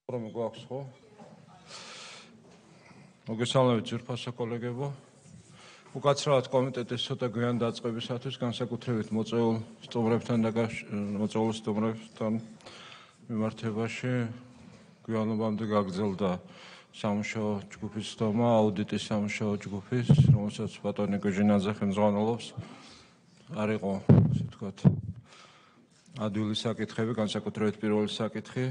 რომ გვაქვს ხო? მოგესალმებით ძვირფასო კოლეგებო. უკაცრავად კომიტეტის ცოტა გვიან დაწყებისათვის განსაკუთრებით მოწვეულ სტუმრებთან მიმართებაში გვიანობამდე გაგრძელდა სამუშაო ჯგუფის ხდომა, აუდიტის სამუშაო ჯგუფის, რომელსაც ბატონი გოჟინაძე ხელმძღვანელობს. არ იყო, ასე ვთქვათ, ადვილი საკითხები, განსაკუთრებით პირველი საკითხი.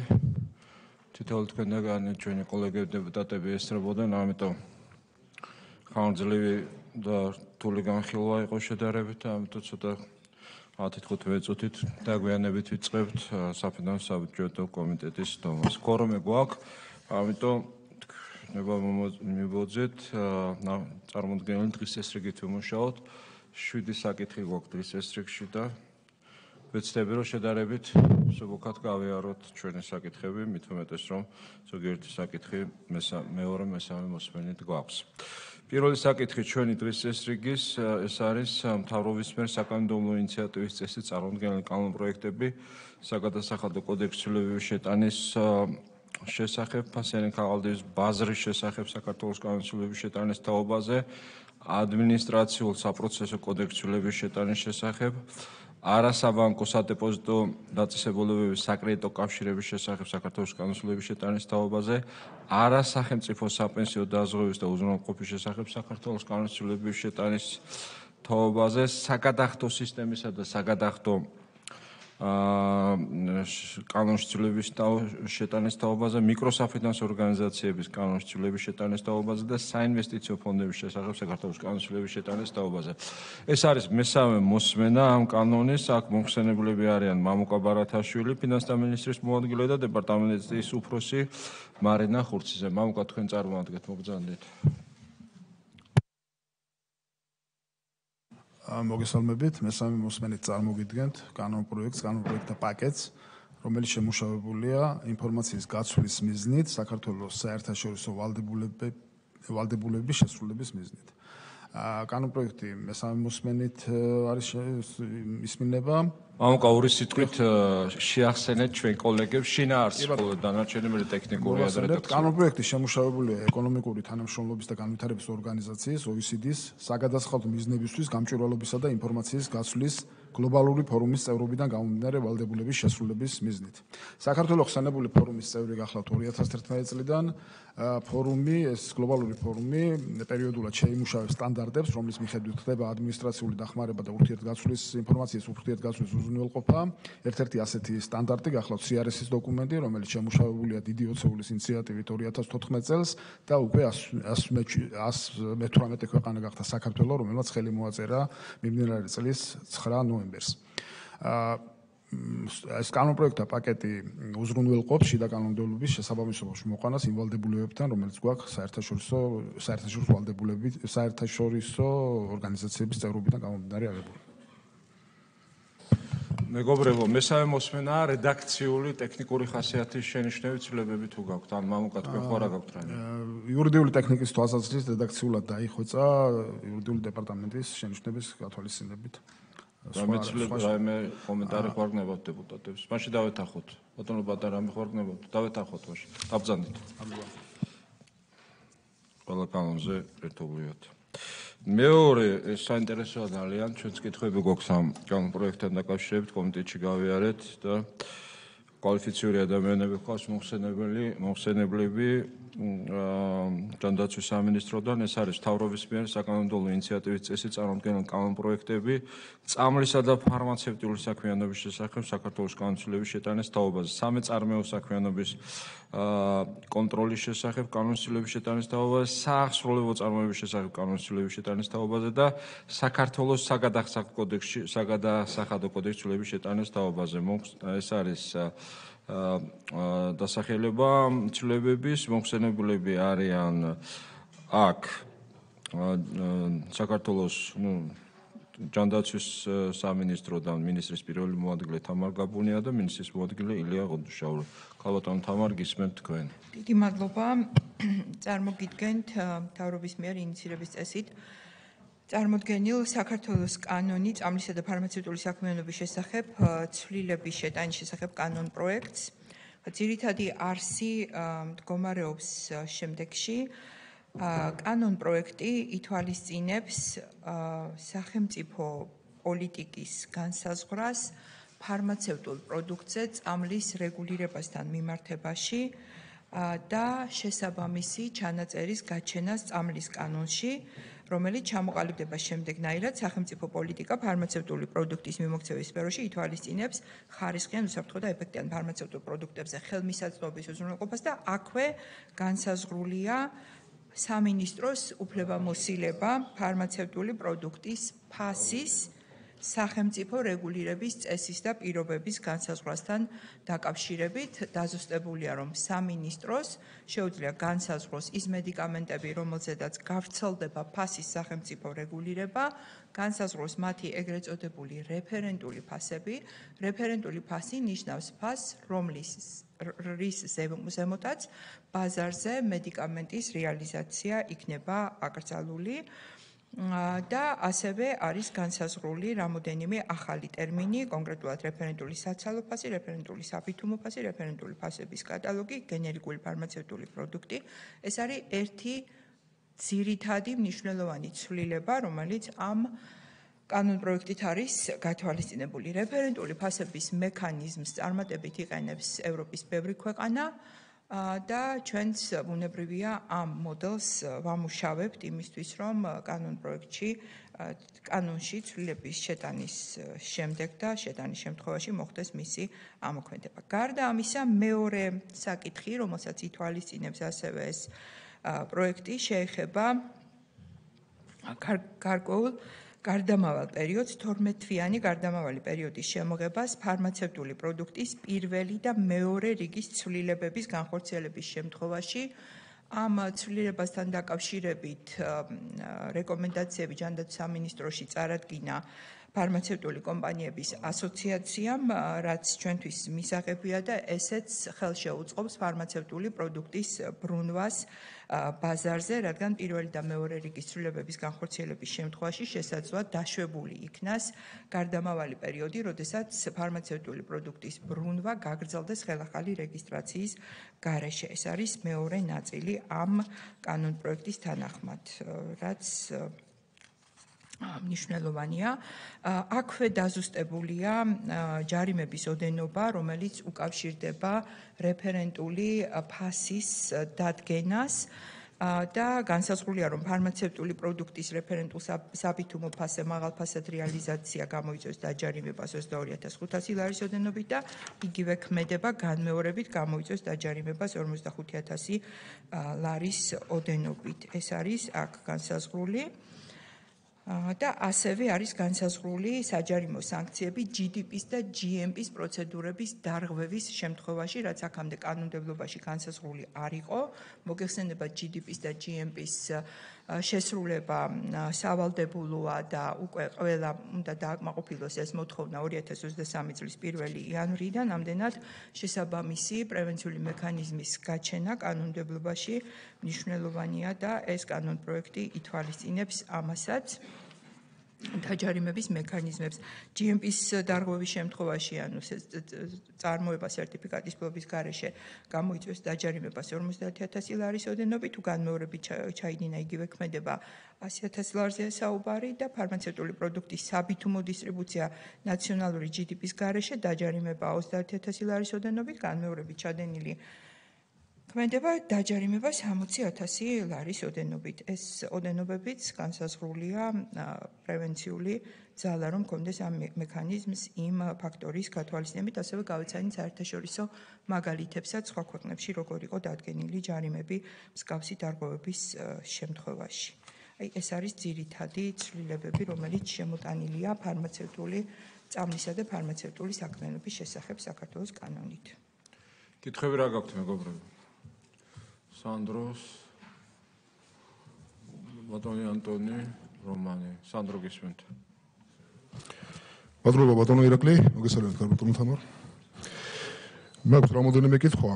თითოეული თქვენგანი ჩვენი კოლეგები დეპუტატები ესწრებოდნენ, ამიტომ ხანგრძლივი და რთული განხილვა იყო შედარებით, ამიტომ ცოტა 10-15 წუთით დაგვიანებით ვიწყებთ საფინანსო საბუჯეტო კომიტეტის ხდომას. კორუმი გვაქვს, ამიტომ ნება მივოძეთ წარმოდგენილი დღის წესრიგით ვიმუშაოთ. 7 საკითხი გვაქვს დღის წესრიგში და ვეცდები რომ შედარებით სუბუქად გავიაროთ ჩვენი საკითხები, მით უმეტეს რომ ზოგიერთი საკითხი მეორე მესამე მოსმენით გვაქვს. პირველი საკითხი ჩვენი დღის წესრიგის ეს არის მთავრობის მიერ საკანონმდებლო ინიციატივის წესით წარმოდგენილი კანონპროექტები საგადასახადო კოდექსის ცვლილებების შეტანის შესახებ, ფასიანი ქაღალდის ბაზრის შესახებ საქართველოს კანონის ცვლილების შეტანის თაობაზე, ადმინისტრაციულ საპროცესო კოდექსის ცვლილების შეტანის შესახებ, არასაბანკო სადეპოზიტო დაწესებულებების საკრედიტო კავშირების შესახებ საქართველოს კანონის ცვლილების შეტანის თაობაზე, არასახელმწიფო საპენსიო დაზღვევის და უზრუნველყოფის შესახებ საქართველოს კანონის ცვლილების შეტანის თაობაზე, საგადახდო სისტემისა და საგადახდო კანონის ცვლილების შეტანის თაობაზე, მიკროსაფინანსო ორგანიზაციების კანონის ცვლილების შეტანის თაობაზე და საინვესტიციო ფონდების შესახებ საქართველოს კანონის ცვლილების შეტანის თაობაზე. ეს არის მესამე მოსმენა ამ კანონის. აქ მომხსენებლები არიან მამუკა ბარათაშვილი, ფინანსთა მინისტრის მოადგილე და დეპარტამენტის უფროსი მარინა ხურციძე. მამუკა, თქვენ წარმოადგენთ, მოგზავნეთ. მოგესალმებით, მესამე მოსმენით წარმოგიდგენთ კანონპროექტთა პაკეტს, რომელიც შემუშავებულია ინფორმაციის გაცვლის მიზნით საქართველოს საერთაშორისო ვალდებულების შესრულების მიზნით. კანონპროექტი მესამე მოსმენით არის ისმინება. მამუკა, ორი სიტყვით შეახსენეთ ჩვენ კოლეგებს შინაარსს, ხოლო დანარჩენი მე ტექნიკურია და რედაქცია. კანონპროექტი შემუშავებულია ეკონომიკური თანამშრომლობის და განვითარების ორგანიზაციის OECD-ს საგადასახადო მიზნებისთვის გამჭვირვალობისა და ინფორმაციის გაცვლის გლობალური ფორუმის წევრობიდან გამომდინარე ვალდებულების შესრულების მიზნით. საქართველოს ხსენებული ფორუმის წევრი გახლავთ 2011 წლიდან. ფორუმი, ეს გლობალური ფორუმი პერიოდულად შეიმუშავებს სტანდარტებს, რომლის მიხედვით ხდება ადმინისტრაციული დახმარება და ურთიერთგაცვლის ინფორმაციის ურთიერთგაცვლის უზრუნველყოფა. ერთ-ერთი ასეთი სტანდარტი გახლავთ CRS-ის დოკუმენტი, რომელიც შემუშავებულია დიდი ოცეულის ინიციატივით 2014 წელს და უკვე 118 ქვეყანა გახდა საქართველო, რომელმაც ხელი მოაწერა მიმდინარე წლის 9 ნოემბერს. ეს კანონპროექტთა პაკეტი უზრუნველყოფს შიდა კანონმდებლობის შესაბამისობაში მოყვანას იმ ვალდებულებებთან, რომელიც გვაქვს საერთაშორისო ორგანიზაციების წევრობიდან გამომდინარე აღებული. მეგობრებო, მესამე მოსმენა რედაქციული ტექნიკური ხასიათის შენიშვნები ცვლილებები თუ გაქვთ, ან მამუკა თქვენ ხო რა გაქვთ რამე? იურიდიული ტექნიკის თვალსაზრისით რედაქციულად დაიხვეწა იურიდიული დეპარტამენტის შენიშვნების გათვალისწინებით. რამე კომენტარი ხარ გნებავთ დეპუტატებს. მაშინ დავეთანხოთ. ბატონო ბატონ რამე ხარ გნებავთ? დავეთანხოთ მაშინ. დაბრძანდით. ყველა კანონზე ერთობლივად. მეორე საინტერესოა ძალიან, ჩვენც კითხვები გვაქვს ამ კანონპროექტთან დაკავშირებით, კომიტეტში გავიარეთ და კვალიფიციური ადამიანები გვყავს მოხსენებლები ჯანდაცვის სამინისტროდან. ეს არის მთავრობის მიერ საკანონმდებლო ინიციატივის წესით წარმოდგენილი კანონპროექტები წამლისა და ფარმაცევტული საქმიანობის შესახებ საქართველოს კანონის ცვლილების შეტანის თაობაზე, სამეწარმეო საქმიანობის კონტროლის შესახებ კანონის ცვლილების შეტანის თაობაზე, საახსროლო წარმოების შესახებ კანონის ცვლილების შეტანის თაობაზე და საქართველოს საგადასახადო კოდექსის ცვლილების შეტანის თაობაზე. ეს არის დასახელება ცვლილებების. მოხსენებლები არიან აქ საქართველოს ჯანდაცვის სამინისტროდან მინისტრის პირველი მოადგილე თამარ გაბუნია და მინისტრის მოადგილე ილია ღონდუშაური. ქალბატონო თამარ, გისმენთ თქვენ. დიდი მადლობა. წარმოგიდგენთ მთავრობის მიერ ინიციირების წესით წარმოდგენილ საქართველოს კანონი წამლისა და ფარმაცევტული საქმიანობის შესახებ ცვლილების შეტანის შესახებ კანონ პროექტს. ძირითადი არსი მდგომარეობს შემდეგში. კანონ პროექტი ითვალისწინებს სახელმწიფო პოლიტიკის განსაზღვრას ფარმაცევტულ პროდუქტზე წამლის რეგულირებასთან მიმართებაში და შესაბამისი ჩანაწერის გაჩენას წამლის კანონში, რომელიც ჩამოყალიბდება შემდეგნაირად სახელმწიფო პოლიტიკა ფარმაცევტული პროდუქტის მიმოქცევის სფეროში ითვალისწინებს ხარისხიან, უსაფრთხო და ეფექტიან ფარმაცევტულ პროდუქტებზე ხელმისაწვდომის უზრუნველყოფას და აქვე განსაზღვრულია სამინისტროს უფლებამოსილება ფარმაცევტული პროდუქტის ფასის სახელმწიფო რეგულირების წესის და პირობების განსაზღვრასთან დაკავშირებით. დაზუსტებულია, რომ სამინისტროს შეუძლია განსაზღვროს ის მედიკამენტები, რომელზედაც გავრცელდება ფასის სახელმწიფო რეგულირება, განსაზღვროს მათი ეგრეთ წოდებული რეფერენტული ფასები. რეფერენტული ფასი ნიშნავს ფასს, რის ზემოთაც ბაზარზე მედიკამენტის რეალიზაცია იქნება აკრძალული. და ასევე არის განსაზღვრული რამოდენიმე ახალი ტერმინი, კონკრეტულად რეფერენტული საცალო ფასი, რეფერენტული საბითუმო ფასი, რეფერენტული ფასების კატალოგი, გენერიკური ფარმაცევტული პროდუქტი. ეს არის ერთი ძირითადი მნიშვნელოვანი ცვლილება, რომელიც ამ კანონ პროექტით არის გათვალისწინებული. რეფერენტული ფასების მექანიზმს წარმატებით იყენებს ევროპის ბევრი ქვეყანა. და ჩვენც ბუნებრივია ამ მოდელს ვამუშავებთ იმისთვის, რომ კანონში ცვლილების შეტანის შემდეგ და შეტანის შემთხვევაში მოხდეს მისი ამოქმედება. გარდა ამისა, მეორე საკითხი, რომელსაც ითვალისწინებს ასევე ეს პროექტი, შეეხება გარკვეულ გარდამავალ პერიოდს, 12-თვიანი გარდამავალი პერიოდის შემოღებას ფარმაცევტული პროდუქტის პირველი და მეორე რიგის ცვლილებების განხორციელების შემთხვევაში. ამ ცვლილებასთან დაკავშირებით რეკომენდაციები ჯანდაცვის სამინისტროში წარადგინა ფარმაცევტული კომპანიების ასოციაციამ, რაც ჩვენთვის მისაღებია და ესეც ხელშეუწყობს ფარმაცევტული პროდუქტის ბრუნვას ბაზარზე, რადგან პირველი და მეორე რიგის ცვლილებების განხორციელების შემთხვევაში შესაძლოა დაშვებული იქნას გარდამავალი პერიოდი, როდესაც ფარმაცევტული პროდუქტის ბრუნვა გაგრძელდეს ხელახალი რეგისტრაციის გარეშე. ეს არის მეორე ნაწილი ამ კანონ პროექტის თანახმად, რაც მნიშვნელოვანია. აქვე დაზუსტებულია ჯარიმების ოდენობა, რომელიც უკავშირდება რეფერენტული ფასის დადგენას და განსაზღვრულია, რომ ფარმაცევტული პროდუქტის რეფერენტულ საბითუმო ფასზე მაღალფასად რეალიზაცია გამოიწვევს დაჯარიმებას 22,500 ლარის ოდენობით და იგივე ქმედება განმეორებით გამოიწვევს დაჯარიმებას 45,000 ლარის ოდენობით. ეს არის აქ განსაზღვრული. და ასევე არის განსაზღვრული საჯარიმო სანქციები GDP-ს და GMP-ს პროცედურების დარღვევის შემთხვევაში, რაც აქამდე კანონმდებლობაში განსაზღვრული არ იყო. მოგეხსენება GDP-ს და GMP-ს შესრულება სავალდებულოა და უკვე ყველა უნდა დააკმაყოფილოს ეს მოთხოვნა 2023 წლის 1 იანვრიდან, ამდენად შესაბამისი პრევენციული მექანიზმის გაჩენა კანონმდებლობაში მნიშვნელოვანია და ეს კანონ პროექტი ითვალისწინებს ამასაც. დაჯარიმების მექანიზმებს GMP-ს დარღვევის შემთხვევაში, ანუ წარმოება სერტიფიკატის ფლობის გარეშე გამოიწვევს დაჯარიმებას 50,000 ლარის ოდენობით, თუ განმეორებით ჩაიდინა იგივე ქმედება 100,000 ლარზეა საუბარი და ფარმაცევტული პროდუქტის საბითუმო დისტრიბუცია ნაციონალური GDP-ს გარეშე დაჯარიმება 30,000 ლარის ოდენობით, განმეორებით ჩადენილი ქმედება დაჯარიმება 60,000 ლარის ოდენობით. ეს ოდენობებიც განსაზღვრულია პრევენციული ძალა, რომ კონდეს ამ მექანიზმს იმ ფაქტორის გათვალისწინებით, ასევე გავეცანით საერთაშორისო მაგალითებსაც სხვა ქვეყნებში, როგორ იყო დადგენილი ჯარიმები მსგავსი დარღვევების შემთხვევაში. ეს არის ძირითადი ცვლილებები, რომელიც შემოტანილია ფარმაცევტული წამლისა და ფარმაცევტული საქმიანობის შესახებ საქართველოს კანონით. კითხვები რა გაქვთ, მეგობრებო? სანდროს, ბატონი ანტონი, რომანი. სანდრო გისმენთ. მადლობა ბატონო ირაკლი, მოგესალმებით ბატონო თამარ. მაქვს რამოდენიმე კითხვა,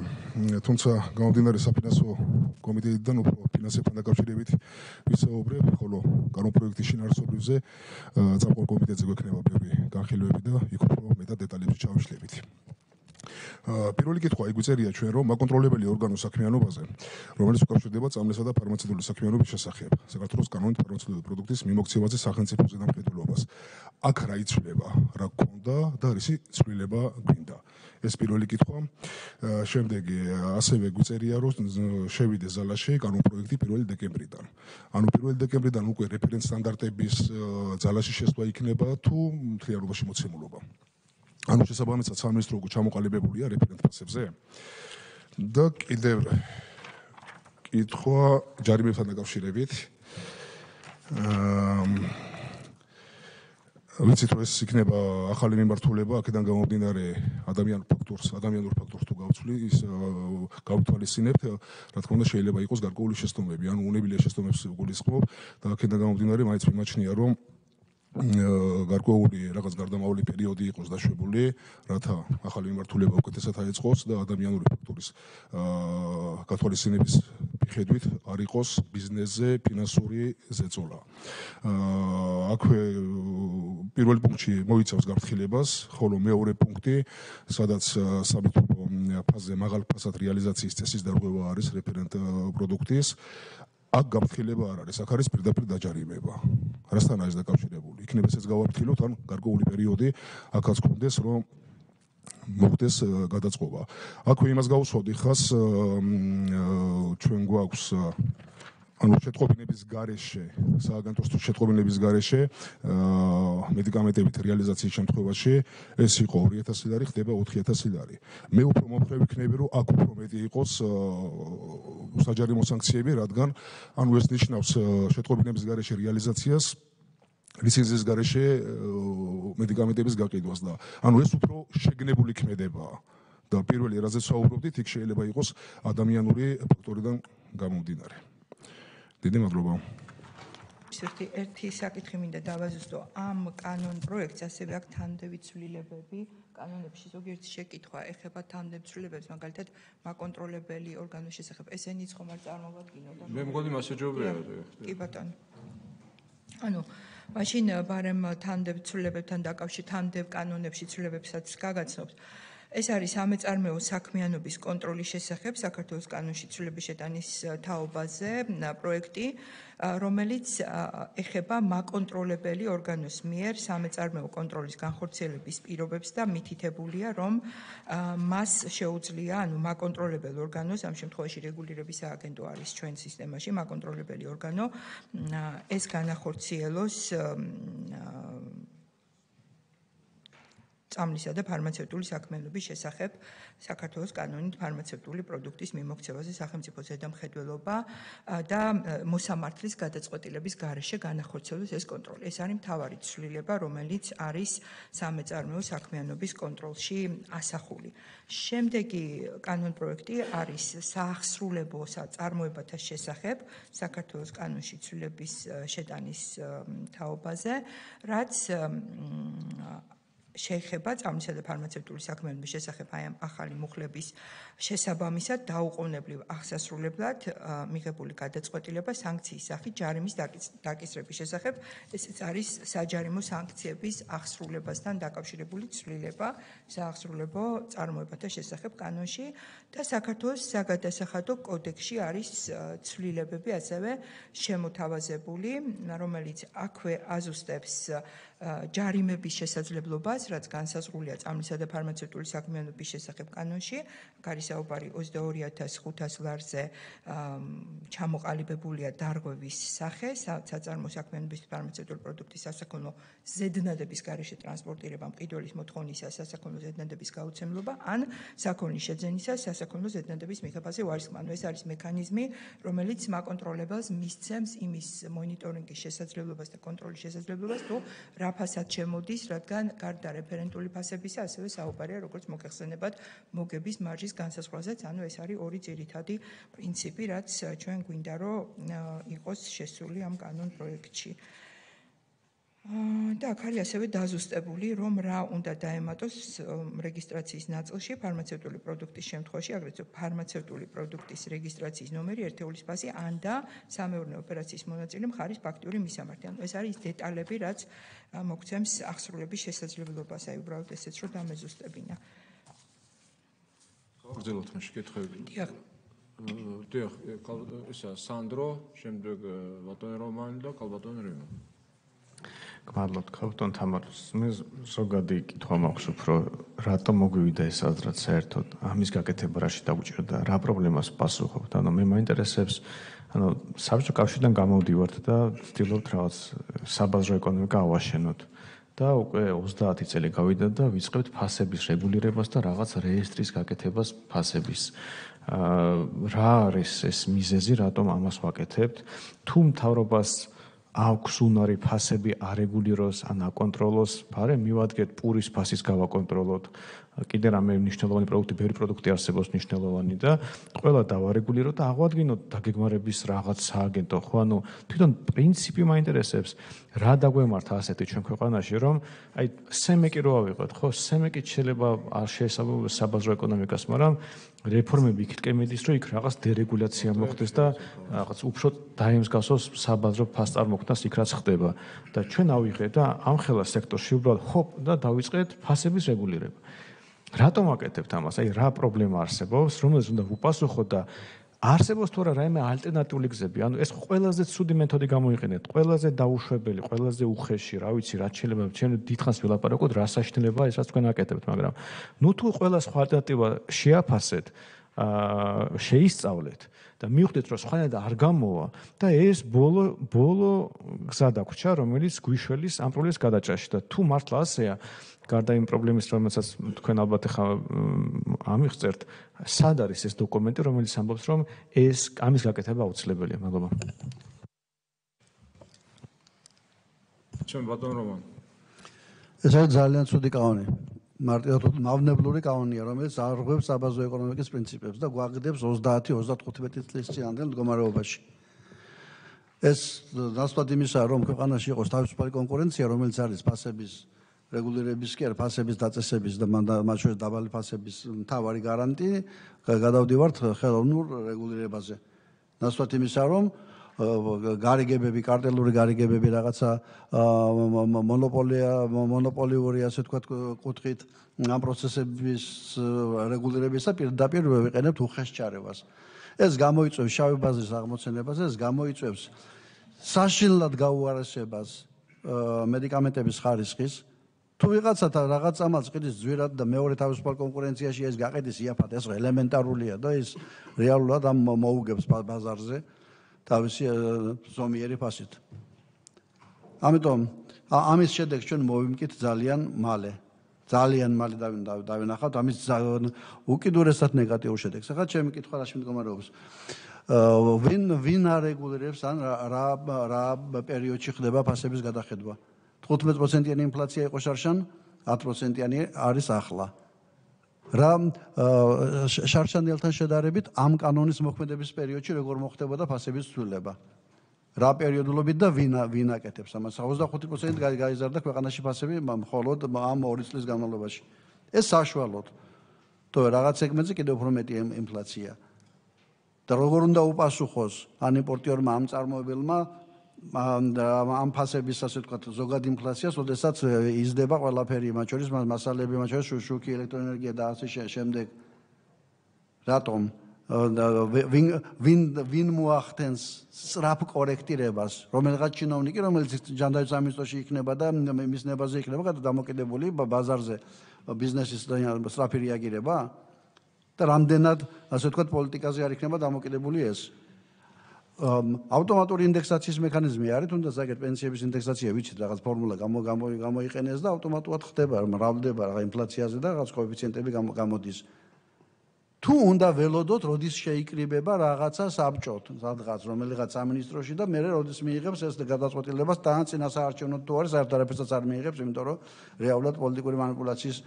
თუმცა გამომდინარე საფინანსო კომიტეტიდან უფრო ფინანსებთან დაკავშირებით ვისაუბრებ, ხოლო კანონ პროექტის შინაარსობრივზე წამყვან კომიტეტზე გვექნება ბევრი განხილვები და იქ უფრო მეტად დეტალებში ჩავიშლებით. პირველი კითხვა იგვიწერია ჩვენ რომ მაკონტროლებელი ორგანოს საქმიანობაზე, რომელიც უკავშირდება წამლისა და ფარმაცევტული საქმიანობის შესახებ, საქართველოს კანონით ფარმაცევტული პროდუქტის მიმოქცევაზე სახელმწიფო ზედამხედველობას. აქ რა იცვლება, რა გქონდა და რისი ცვლილება გვინდა. ეს პირველი კითხვა. შემდეგი ასევე გვიწერია რომ შევიდეს ზალაში კანონპროექტი 1 დეკემბრიდან. ანუ 1 დეკემბრიდან უკვე რეფერენც სტანდარტების ზალაში შესვლა იქნება თუ მთლიანობაში მოცემულობა. ანუ შესაბამისად სამინისტრო უკვე ჩამოყალიბებულია რეფერენტ ფასებზე. და კიდევ კითხვა ჯარიმებთან დაკავშირებით. ვიცით რომ ეს იქნება ახალი მიმართულება, აქედან გამომდინარე ადამიანურ ფაქტორს თუ გავცვლი, ის გავთვალისწინებთ, რა თქმა უნდა შეიძლება იყოს გარკვეული შეცდომები, ანუ უნებლიე შეცდომებს გულისხმობ და აქედან გამომდინარე მაინც მიმაჩნია რომ გარკვეული რაღაც გარდამავალი პერიოდი იყოს დაშვებული, რათა ახალი მიმართულება უკეთესად აეწყოს და ადამიანური ფაქტორის გათვალისწინების მიხედვით არ იყოს ბიზნესზე ფინანსური ზეწოლა. აქვე პირველ პუნქტში მოიცავს გაფრთხილებას, ხოლო მეორე პუნქტი, სადაც საბუთო ფაზზე მაღალ ფასად რეალიზაციის წესის დარღვევა არის რეფერენტ პროდუქტის. აქ გაფრთხილება არ არის, აქ არის პირდაპირ დაჯარიმება. რასთან არის დაკავშირებული? იქნებ ესეც გავაფრთხილოთ, ან გარკვეული პერიოდი აქაც გქონდეს, რომ მოხდეს გადაწყობა. აქვე იმას გავუსვავდი ხას, ჩვენ გვაქვს ანუ შეტყობინების გარეშე, სააგენტოს შეტყობინების გარეშე მედიკამენტებით რეალიზაციის შემთხვევაში ეს იყო 2000 ლარი, ხდება 4000 ლარი. მე უფრო მომხრე ვიქნები, რომ აქ უფრო მეტი იყოს საჯარიმო სანქციები, რადგან ანუ ეს ნიშნავს შეტყობინების გარეშე რეალიზაციას ლიცენზიის გარეშე მედიკამენტების გაყიდვას და ანუ ეს უფრო შეგნებული ქმედებაა. და პირველი რაზეც ვსაუბრობდით, იქ შეიძლება იყოს ადამიანური ფაქტორიდან გამომდინარე. დიდი მადლობა. ერთი საკითხი მინდა დავაზუსტო. ამ კანონ პროექტს ასევე აქვს თანმდევი ცვლილებები კანონებში. ზოგიერთი შეკითხვა ეხება თანმდევ ცვლილებებს, მაგალითად, მაკონტროლებელი ორგანოს შესახებ. ესენიც ხომ არ წარმოვადგინოთ? მე მგონი მასეჯობია. კი ბატონო. ანუ მაშინ ბარემ თანმდევ ცვლილებებთან დაკავშირებით თანმდევ კანონებში ცვლილებებსაც გაგაცნობთ. ეს არის სამეწარმეო საქმიანობის კონტროლის შესახებ საქართველოს კანონში ცვლილების შეტანის თაობაზე პროექტი, რომელიც ეხება მაკონტროლებელი ორგანოს მიერ სამეწარმეო კონტროლის განხორციელების პირობებს და მითითებულია, რომ მას შეუძლია, ანუ მაკონტროლებელ ორგანოს, ამ შემთხვევაში რეგულირების სააგენტო არის ჩვენ სისტემაში, მაკონტროლებელი ორგანო, ეს განახორციელოს წამლისა და ფარმაცევტული საქმიანობის შესახებ საქართველოს კანონით ფარმაცევტული პროდუქტის მიმოქცევაზე სახელმწიფო ზედამხედველობა და მოსამართლის გადაწყვეტილების გარეშე განახორციელოს ეს კონტროლი. ეს არის მთავარი ცვლილება, რომელიც არის სამეწარმეო საქმიანობის კონტროლში ასახული. შემდეგი კანონ პროექტი არის საახსრულებო წარმოებათა შესახებ საქართველოს კანონში ცვლილების შეტანის თაობაზე, რაც შეეხება წამლისა და ფარმაცევტული საქმიანობის შესახებ აი ამ ახალი მუხლების შესაბამისად დაუყოვნებლივ აღსასრულებლად მიღებული გადაწყვეტილება სანქციის სახით ჯარიმის დაკისრების შესახებ. ესეც არის საჯარიმო სანქციების აღსრულებასთან დაკავშირებული ცვლილება საახსრულებო წარმოებათა შესახებ კანონში და საქართველოს საგადასახადო კოდექსში არის ცვლილებები ასევე შემოთავაზებული, რომელიც აქვე აზუსტებს ჯარიმების შესაძლებლობას, რაც განსაზღვრულია წამლისა და ფარმაცევტული საქმიანობის შესახებ კანონში. არის საუბარი 22500 ლარზე ჩამოყალიბებულია დარღვევის სახე, საწარმო საქმიანობის ფარმაცევტული პროდუქტის სასაქონლო ზედნადების გარეშე ტრანსპორტირება, მყიდველის მოთხოვნისა სასაქონლო ზედნადების გაუცემლობა, ან საქონლის შეძენისა სასაქონლო ზედნადების მიღებაზე ვარისხმა. ეს არის მექანიზმი, რომელიც მაკონტროლებელს მისცემს იმის მონიტორინგის შესაძლებლობას და კონტროლის შესაძლებლობას, თუ რა ფასად შემოდის, რადგან გარდა რეფერენტული ფასებისა, ასევე საუბარია როგორც მოგეხსენებათ მოგების მარჟის განსაზღვრაზეც, ანუ ეს არის ორი ძირითადი პრინციპი, რაც ჩვენ გვინდა რომ იყოს შესული ამ კანონ პროექტში. და აქ არის ასევე დაზუსტებული, რომ რა უნდა დაემატოს რეგისტრაციის ნაწილში ფარმაცევტული პროდუქტის შემთხვევაში, აგრეთვე ფარმაცევტული პროდუქტის რეგისტრაციის ნომერი, ერთეულის ფასი, ან და სამეურნეო ოპერაციის მონაწილე მხარის ფაქტიური მისამართი. ანუ ეს არის დეტალები, რაც მოგცემს აღსრულების შესაძლებლობას, აი უბრალოდ ესეც რომ დამეზუსტებინა. გაგრძელოთ მაშინ კითხვები. დიახ. დიახ, ისა სანდრო, შემდეგ ბატონი რომანი და ქალბატონი რიმა. გმადლობთ ქალბატონ თამარს. მე ზოგადი კითხვა მაქვს უფრო რატომ მოგვივიდა ეს აზრად საერთოდ ამის გაკეთება რაში დაგვჭირდა, რა პრობლემას პასუხობთ. ანუ მე მაინტერესებს საბჭოთა კავშირიდან გამოვდივართ და ვცდილობთ რაღაც საბაზრო ეკონომიკა ავაშენოთ. და უკვე 30 წელი გავიდა და ვიწყებთ ფასების რეგულირებას და რაღაც რეესტრის გაკეთებას ფასების. რა არის ეს მიზეზი, რატომ ამას ვაკეთებთ? თუ მთავრობას აქვს უნარი ფასები არეგულიროს ან აკონტროლოს, ფარე მივადგეთ პურის ფასის გავაკონტროლოთ. კიდე რამე მნიშვნელოვანი პროდუქტი, ბევრი პროდუქტი არსებობს მნიშვნელოვანი და ყველა დავარეგულიროთ და აღვადგინოთ დაგეგმარების რაღაც სააგენტო. ხო, ანუ თვითონ პრინციპი მაინტერესებს, რა დაგვემართა ასეთი ჩვენ ქვეყანაში, რომ აი სემეკი რო ავიღოთ, ხო, სემეკით შეიძლება არ შეესაბამება საბაზრო ეკონომიკას, მაგრამ რეფორმები იქით მიდის, რომ იქ რაღაც დერეგულაცია მოხდეს და რაღაც უფრო დაემსგავსოს საბაზრო ფასწარმოქმედას იქ რაც ხდება. და ჩვენ ავიღეთ და ამხელა სექტორში უბრალოდ ჰოპ და დავიწყეთ ფასების რეგულირება. რატომ ვაკეთებთ ამას? აი რა პრობლემა არსებობს, რომელზეც უნდა ვუპასუხოთ და არსებობს თუ არა რაიმე ალტერნატიული გზები? ანუ ეს ყველაზე ცუდი მეთოდი გამოიყენეთ, ყველაზე დაუშვებელი, ყველაზე უხეში, რა ვიცი, რაც შეიძლება ჩვენ დიდხანს ვილაპარაკოთ, რა საშინელებაა ეს რაც თქვენ აკეთებთ, მაგრამ ნუ თუ ყველა სხვა ალტერნატივა შეაფასეთ, შეისწავლეთ და მივხვდეთ, რომ სხვანაირად არ გამოვა და ეს ბოლო გზა დაგვრჩა, რომელიც გვიშველის ამ პრობლემის გადაჭრაში და თუ მართლა ასეა, გარდა იმ პრობლემის, რომელსაც თქვენ ალბათ ახლა ამიღწევთ, სად არის ეს დოკუმენტი, რომელიც ამბობს, რომ ეს ამის გაკეთება აუცილებელია? მადლობა. ჩვენ ბატონ რომან. ეს არის ძალიან ცუდი კანონი. მარტივად მავნებლური კანონია, რომელიც არღვევს საბაზრო ეკონომიკის პრინციპებს და გვაგდებს 30-35 წლის წინანდელ მდგომარეობაში. ეს ნაცვლად იმისა, რომ ქვეყანაში იყოს თავისუფალი კონკურენცია, რომელიც არის ფასების რეგულირების კი არა, ფასების დაწესების და მათ შორის დაბალი ფასების მთავარი გარანტი, გადავდივართ ხელოვნურ რეგულირებაზე. ნაცვლად იმისა, რომ გარიგებები, კარტელური გარიგებები რაღაცა მონოპოლიური, ასე ვთქვათ, კუთხით ამ პროცესების რეგულირებისა პირდაპირ ვიყენებთ უხეშ ჩარევას. ეს გამოიწვევს შავი ბაზრის აღმოცენებას, ეს გამოიწვევს საშინლად გაუარესებას მედიკამენტების ხარისხის. თუ ვიღაცა რაღაც ამას ყიდის ძვირად და მეორე თავისუფალ კონკურენციაში ეს გაყიდის იაფად, ეს ელემენტარულია და ის რეალურად ამ მოუგებს ბაზარზე თავისი ზომიერი ფასით. ამიტომ ამის შედეგს ჩვენ მოვიმკით ძალიან მალე. ძალიან მალე დავინახავთ ამის უკიდურესად ნეგატიურ შედეგს. ახლა ჩემი კითხვა რაში მდგომარეობს? ვინ არეგულირებს ან რა პერიოდში ხდება ფასების გადახედვა? 15%-იანი ინფლაცია იყო შარშან, 10%-იანი არის ახლა. რა შარშანელთან შედარებით ამ კანონის მოქმედების პერიოდში როგორ მოხდებოდა ფასების ცვლილება? რა პერიოდულობით და ვინ აკეთებს ამას? 25% გაიზარდა ქვეყანაში ფასები მხოლოდ ამ 2 წლის განმავლობაში. ეს საშუალოდ. თორე რაღაც სეგმენტზე კიდევ უფრო მეტი ინფლაცია. და როგორ უნდა უპასუხოს ან იმპორტიორმა ამ წარმოებელმა ამ ფასების, ასე ვთქვათ, ზოგად ინფლაციას, როდესაც იზრდება ყველაფერი, მათ შორის მასალები, მათ შორის შუქი, ელექტროენერგია და ასე შემდეგ. რატომ? ვინ მოახდენს სწრაფ კორექტირებას, რომელიღაც ჩინოვნიკი, რომელიც ჯანდაცვის სამინისტროში იქნება და მის ნებაზე იქნება დამოკიდებული ბაზარზე ბიზნესის სწრაფი რეაგირება და რამდენად, ასე ვთქვათ, პოლიტიკაზე არ იქნება დამოკიდებული ეს. ავტომატური ინდექსაციის მექანიზმი არის, თუნდაც აგერ პენსიების ინდექსაცია ვიცით, რაღაც ფორმულა გამოიყენეს და ავტომატურად ხდება, მრავლდება რაღაც ინფლაციაზე და რაღაც კოეფიციენტები გამოდის. თუ უნდა ველოდოთ, როდის შეიკრიბება რაღაცა საბჭოთ, სადღაც რომელიღაც სამინისტროში და მე როდის მიიღებს ეს გადაწყვეტილებას, თან წინასაარჩევნოდ თუ არის, საერთოდ არაფერსაც არ მიიღებს, იმიტომ რომ რეალურად პოლიტიკური მანიპულაციის,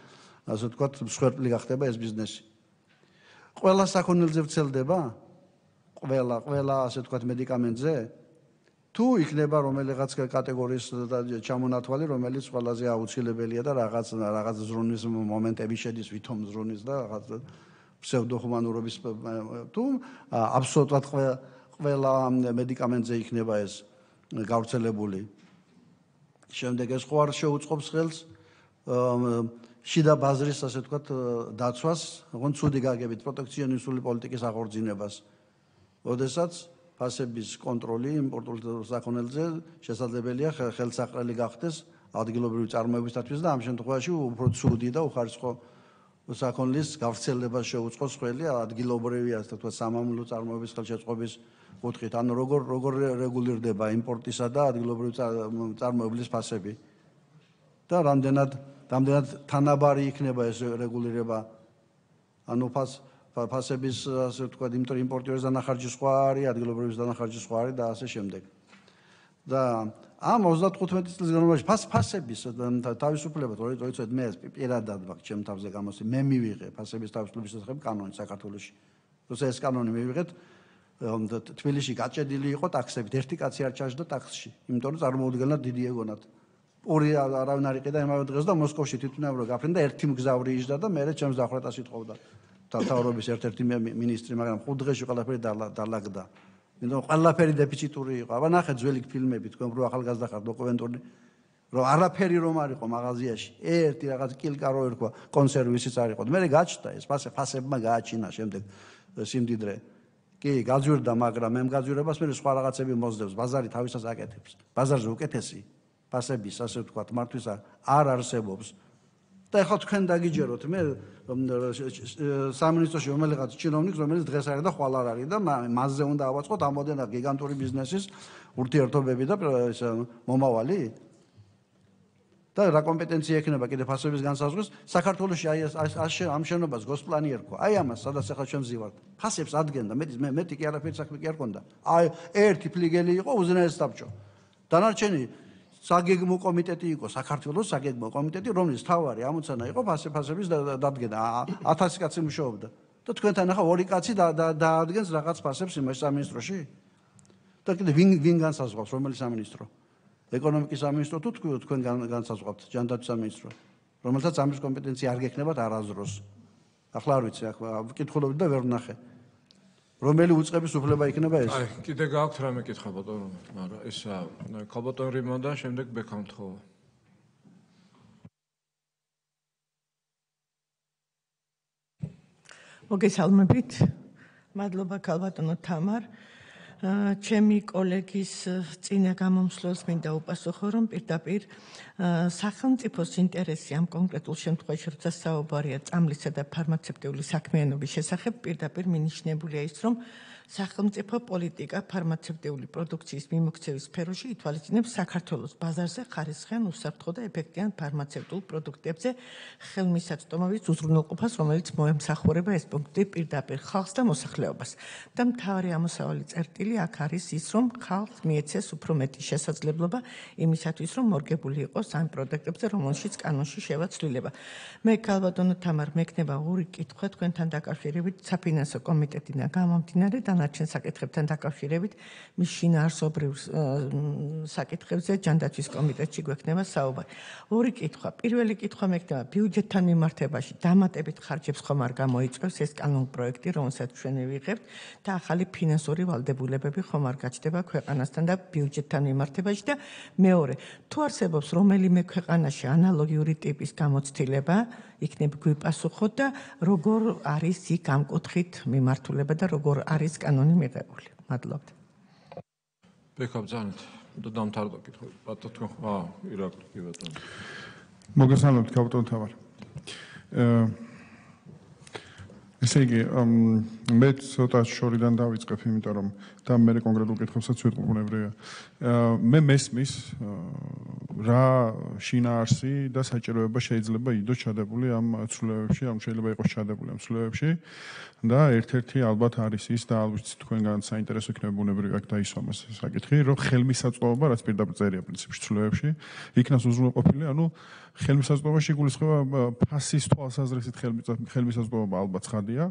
ასე ვთქვათ, მსხვერპლი გახდება ეს ბიზნესი. ყველა საქონელზე ვრცელდება? ყველა, ასე ვთქვათ, მედიკამენტზე? თუ იქნება რომელიღაც კატეგორიის ჩამონათვალი, რომელიც ყველაზე აუცილებელია და რაღაც ზრუნის მომენტები შედის, ვითომ ზრუნის და რაღაც ფსევდოჰუმანურობის თუ აბსოლუტურად ყველა მედიკამენტზე იქნება ეს გავრცელებული. შემდეგ ეს ხო არ შეუწყობს ხელს შიდა ბაზრის, ასე ვთქვათ, დაცვას, ოღონდ ცუდი გაგებით პროტექციონისტული პოლიტიკის აღორძინებას. როდესაც ფასების კონტროლი იმპორტულ საქონელზე შესაძლებელია ხელსაყრელი გახდეს ადგილობრივი წარმოებისათვის და ამ შემთხვევაში უფრო ცუდი და უხარისხო საქონლის გავრცელებას შეუწყოს ხელი ადგილობრივი, ასე ვთქვათ, სამამულო წარმოების ხელშეწყობის კუთხით. ანუ როგორ რეგულირდება იმპორტისა და ადგილობრივი წარმოებლის ფასები და რამდენად თანაბარი იქნება ეს რეგულირება. ანუ ფასების, ასე ვთქვათ, იმიტომ რომ იმპორტიორის დანახარჯი სხვა არის, ადგილობრივის დანახარჯი სხვა არის და ასე შემდეგ. და ამ 35 წლის განმავლობაში ფასების თავისუფლება, როდესაც მე პირადად ვაკ ჩემ თავზე გამოსი, მე მივიღე ფასების თავისუფლების შესახებ კანონი საქართველოში. როცა ეს კანონი მივიღეთ, თბილისში გაჭედილი იყო ტაქსებით, ერთი კაცი არ ჩაჯდა ტაქსში, იმიტომ რომ წარმოუდგენლად დიდი ეგონათ. ორი არავინ არ იყიდა იმავე დღეს და მოსკოვში თვითმფრინავი გაფრინდა, ერთი მგზავრი იჯდა და მე ჩემს დახვრეტას ითხოვდა. თავრობის ერთ-ერთი მინისტრი, მაგრამ 5 დღეში ყველაფერი დალაგდა. იმიტომ ყველაფერი დეფიციტური იყო. აბა ნახეთ ძველი ფილმები, თქვენ რო ახალგაზრდა ხართ დოკუმენტური, რომ არაფერი რომ არ იყო მაღაზიაში. ერთი რაღაც კილკა რო ერქვა, კონსერვისიც არ იყო. მე გაჩნდა ეს ფასებმა გააჩინა შემდეგ სიმდიდრე. კი, გაძვირდა, მაგრამ მე მგაძვირებას მე სხვა რაღაცები მოსდევს, ბაზარი თავისას აკეთებს. ბაზარზე უკეთესი ფასების, ასე ვთქვათ, მართვისა არ არსებობს. და ეხლა თქვენ დაგიჯეროთ, მე სამინისტროში რომელიღაც ჩინოვნიკს, რომელიც დღეს არის და ხვალ არ არის და მასზე უნდა ავაწყოთ ამოდენა გიგანტური ბიზნესის ურთიერთობები და მომავალი. და რა კომპეტენცია ექნება კიდე ფასების განსაზღვრის? საქართველოში ამ შენობას გოსპლანი ერქვა. აი ამას, სადაც ახლა ჩვენ ვზივართ. ფასებს ადგენდა, მეტი კი არაფერი საქმე კი არ ქონდა. აი ერთი ფლიგელი იყო უზენაეს საბჭო. დანარჩენი საგეგმო კომიტეტი იყო, საქართველოს საგეგმო კომიტეტი, რომლის თავარი ამოცანა იყო ფასების დადგენა. 1000 კაცი მუშაობდა. და თქვენთან ახლა 2 კაცი დაადგენს რაღაც ფასებს იმას სამინისტროში? და კიდე ვინ განსაზღვრავს, რომელი სამინისტრო? ეკონომიკის სამინისტრო თუ თქვენ განსაზღვრავთ, ჯანდაცვის სამინისტრო, რომელსაც ამის კომპეტენცია არ გექნებათ არასდროს. ახლა არ ვიცი, ახლა ვკითხულობდი და ვერ ვნახე. რომელი უწყების უფლება იქნება ეს? აი, კიდე გააქვთ რამე კითხვა ბატონო, მაგრამ ისა ქალბატონ რიმო და შემდეგ ბექამთხოვა. მოგესალმებით. მადლობა ქალბატონო თამარ. ჩემი კოლეგის წინა გამომსვლელს მინდა უპასუხო, რომ პირდაპირ სახელმწიფოს ინტერესი ამ კონკრეტულ შემთხვევაში, როცა საუბარია წამლისა და ფარმაცევტიული საქმიანობის შესახებ, პირდაპირ მინიშნებულია ის, რომ სახელმწიფო პოლიტიკა ფარმაცევტიული პროდუქციის მიმოქცევის სფეროში ითვალისწინებს საქართველოს ბაზარზე ხარისხიან, უსაფრთხო და ეფექტიან ფარმაცევტულ პროდუქტებზე ხელმისაწვდომობის უზრუნველყოფას, რომელიც მოემსახურება ეს პუნქტი პირდაპირ ხალხს და მოსახლეობას. და მთავარი ამოსავალი წერტილი აქ არის ის, რომ ხალხს მიეცეს უფრო მეტი შესაძლებლობა იმისათვის, რომ მორგებული იყოს ამ პროდუქტებზე, რომელშიც კანონში შევაცვლილება. მე ქალბატონო თამარ, მექნება ორი კითხვა თქვენთან დაკავშირებით საფინანსო კომიტეტიდან გამომდინარე დანარჩენ საკითხებთან დაკავშირებით მის შინაარსობრივ საკითხებზე ჯანდაცვის კომიტეტში გვექნება საუბარი. ორი კითხვა. პირველი კითხვა მექნება ბიუჯეტთან მიმართებაში დამატებით ხარჯებს ხომ არ გამოიწვევს ეს კანონპროექტი, რომელსაც ჩვენ ვიღებთ და ახალი ფინანსური ვალდებულებები ხომ არ გაჩნდება ქვეყანასთან და ბიუჯეტთან მიმართებაში და მეორე, თუ არსებობს რომელიმე ქვეყანაში ანალოგიური ტიპის გამოცდილება, იქნებ გვიპასუხოთ და როგორ არის იქ ამ კუთხით მიმართულება და როგორ არის კანონი მიღებული. მადლობთ. ბექაბძანეთ და დამთავრდა კითხვა. ბატონო, ირაკლი კი ბატონო. მოგესალმებით ქალბატონ თამარ. ესე იგი, მე ცოტა შორიდან დავიწყებ, იმიტომ რომ და მე კონკრეტულ კითხვებსაც ვიტყვი ბუნებრივია. მე მესმის რა შინაარსი და საჭიროება შეიძლება იყოს ჩადებული ამ ცვლილებებში, ამ შეიძლება იყოს ჩადებული ამ ცვლილებებში და ერთ-ერთი ალბათ არის ის და ალბათ თქვენგან საინტერესო იქნება ბუნებრივია აქ დაისვამოს საკითხი, რომ ხელმისაწვდომობა, რაც პირდაპირ წერია პრინციპში ცვლილებებში, იქნას უზრუნველყოფილი, ანუ ხელმისაწვდომობაში გულისხმობა ფასის თვალსაზრისით ხელმისაწვდომობა ალბათ ცხადია.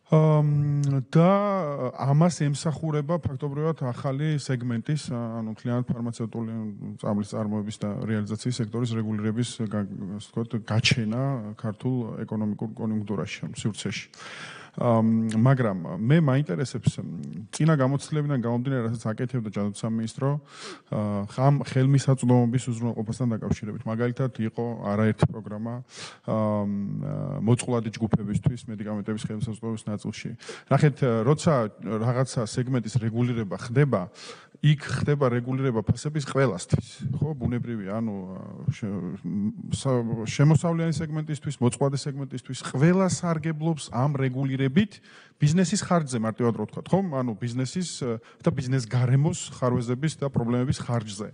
და ამას ემსახურება ფაქტობრივად ახალი სეგმენტის, ანუ მთლიანად ფარმაცევტული წამლის წარმოების და რეალიზაციის სექტორის რეგულირების გაჩენა ქართულ ეკონომიკურ კონიუნქტურაში, სივრცეში. მაგრამ მე მაინტერესებს წინა გამოცდილებიდან გამომდინარე, რასაც აკეთებდა ჯანდაცვის სამინისტრო, ხამ ხელმისაწვდომობის უზრუნველყოფასთან დაკავშირებით. მაგალითად, იყო არაერთი პროგრამა მოწყვლადი ჯგუფებისთვის მედიკამენტების ხელმისაწვდომობის ნაწილში. ნახეთ, როცა რაღაცა სეგმენტის რეგულირება ხდება, იქ ხდება რეგულირება ფასების ყველასთვის, ხო, ბუნებრივია, ანუ შემოსავლიანი სეგმენტისთვის, მოწყვლადი სეგმენტისთვის, ყველა სარგებლობს ამ რეგულირებით ბიზნესის ხარჯზე, მარტივად რო ვთქვა, ხო? ანუ ბიზნესის და ბიზნეს გარემოს ხარვეზების და პრობლემების ხარჯზე.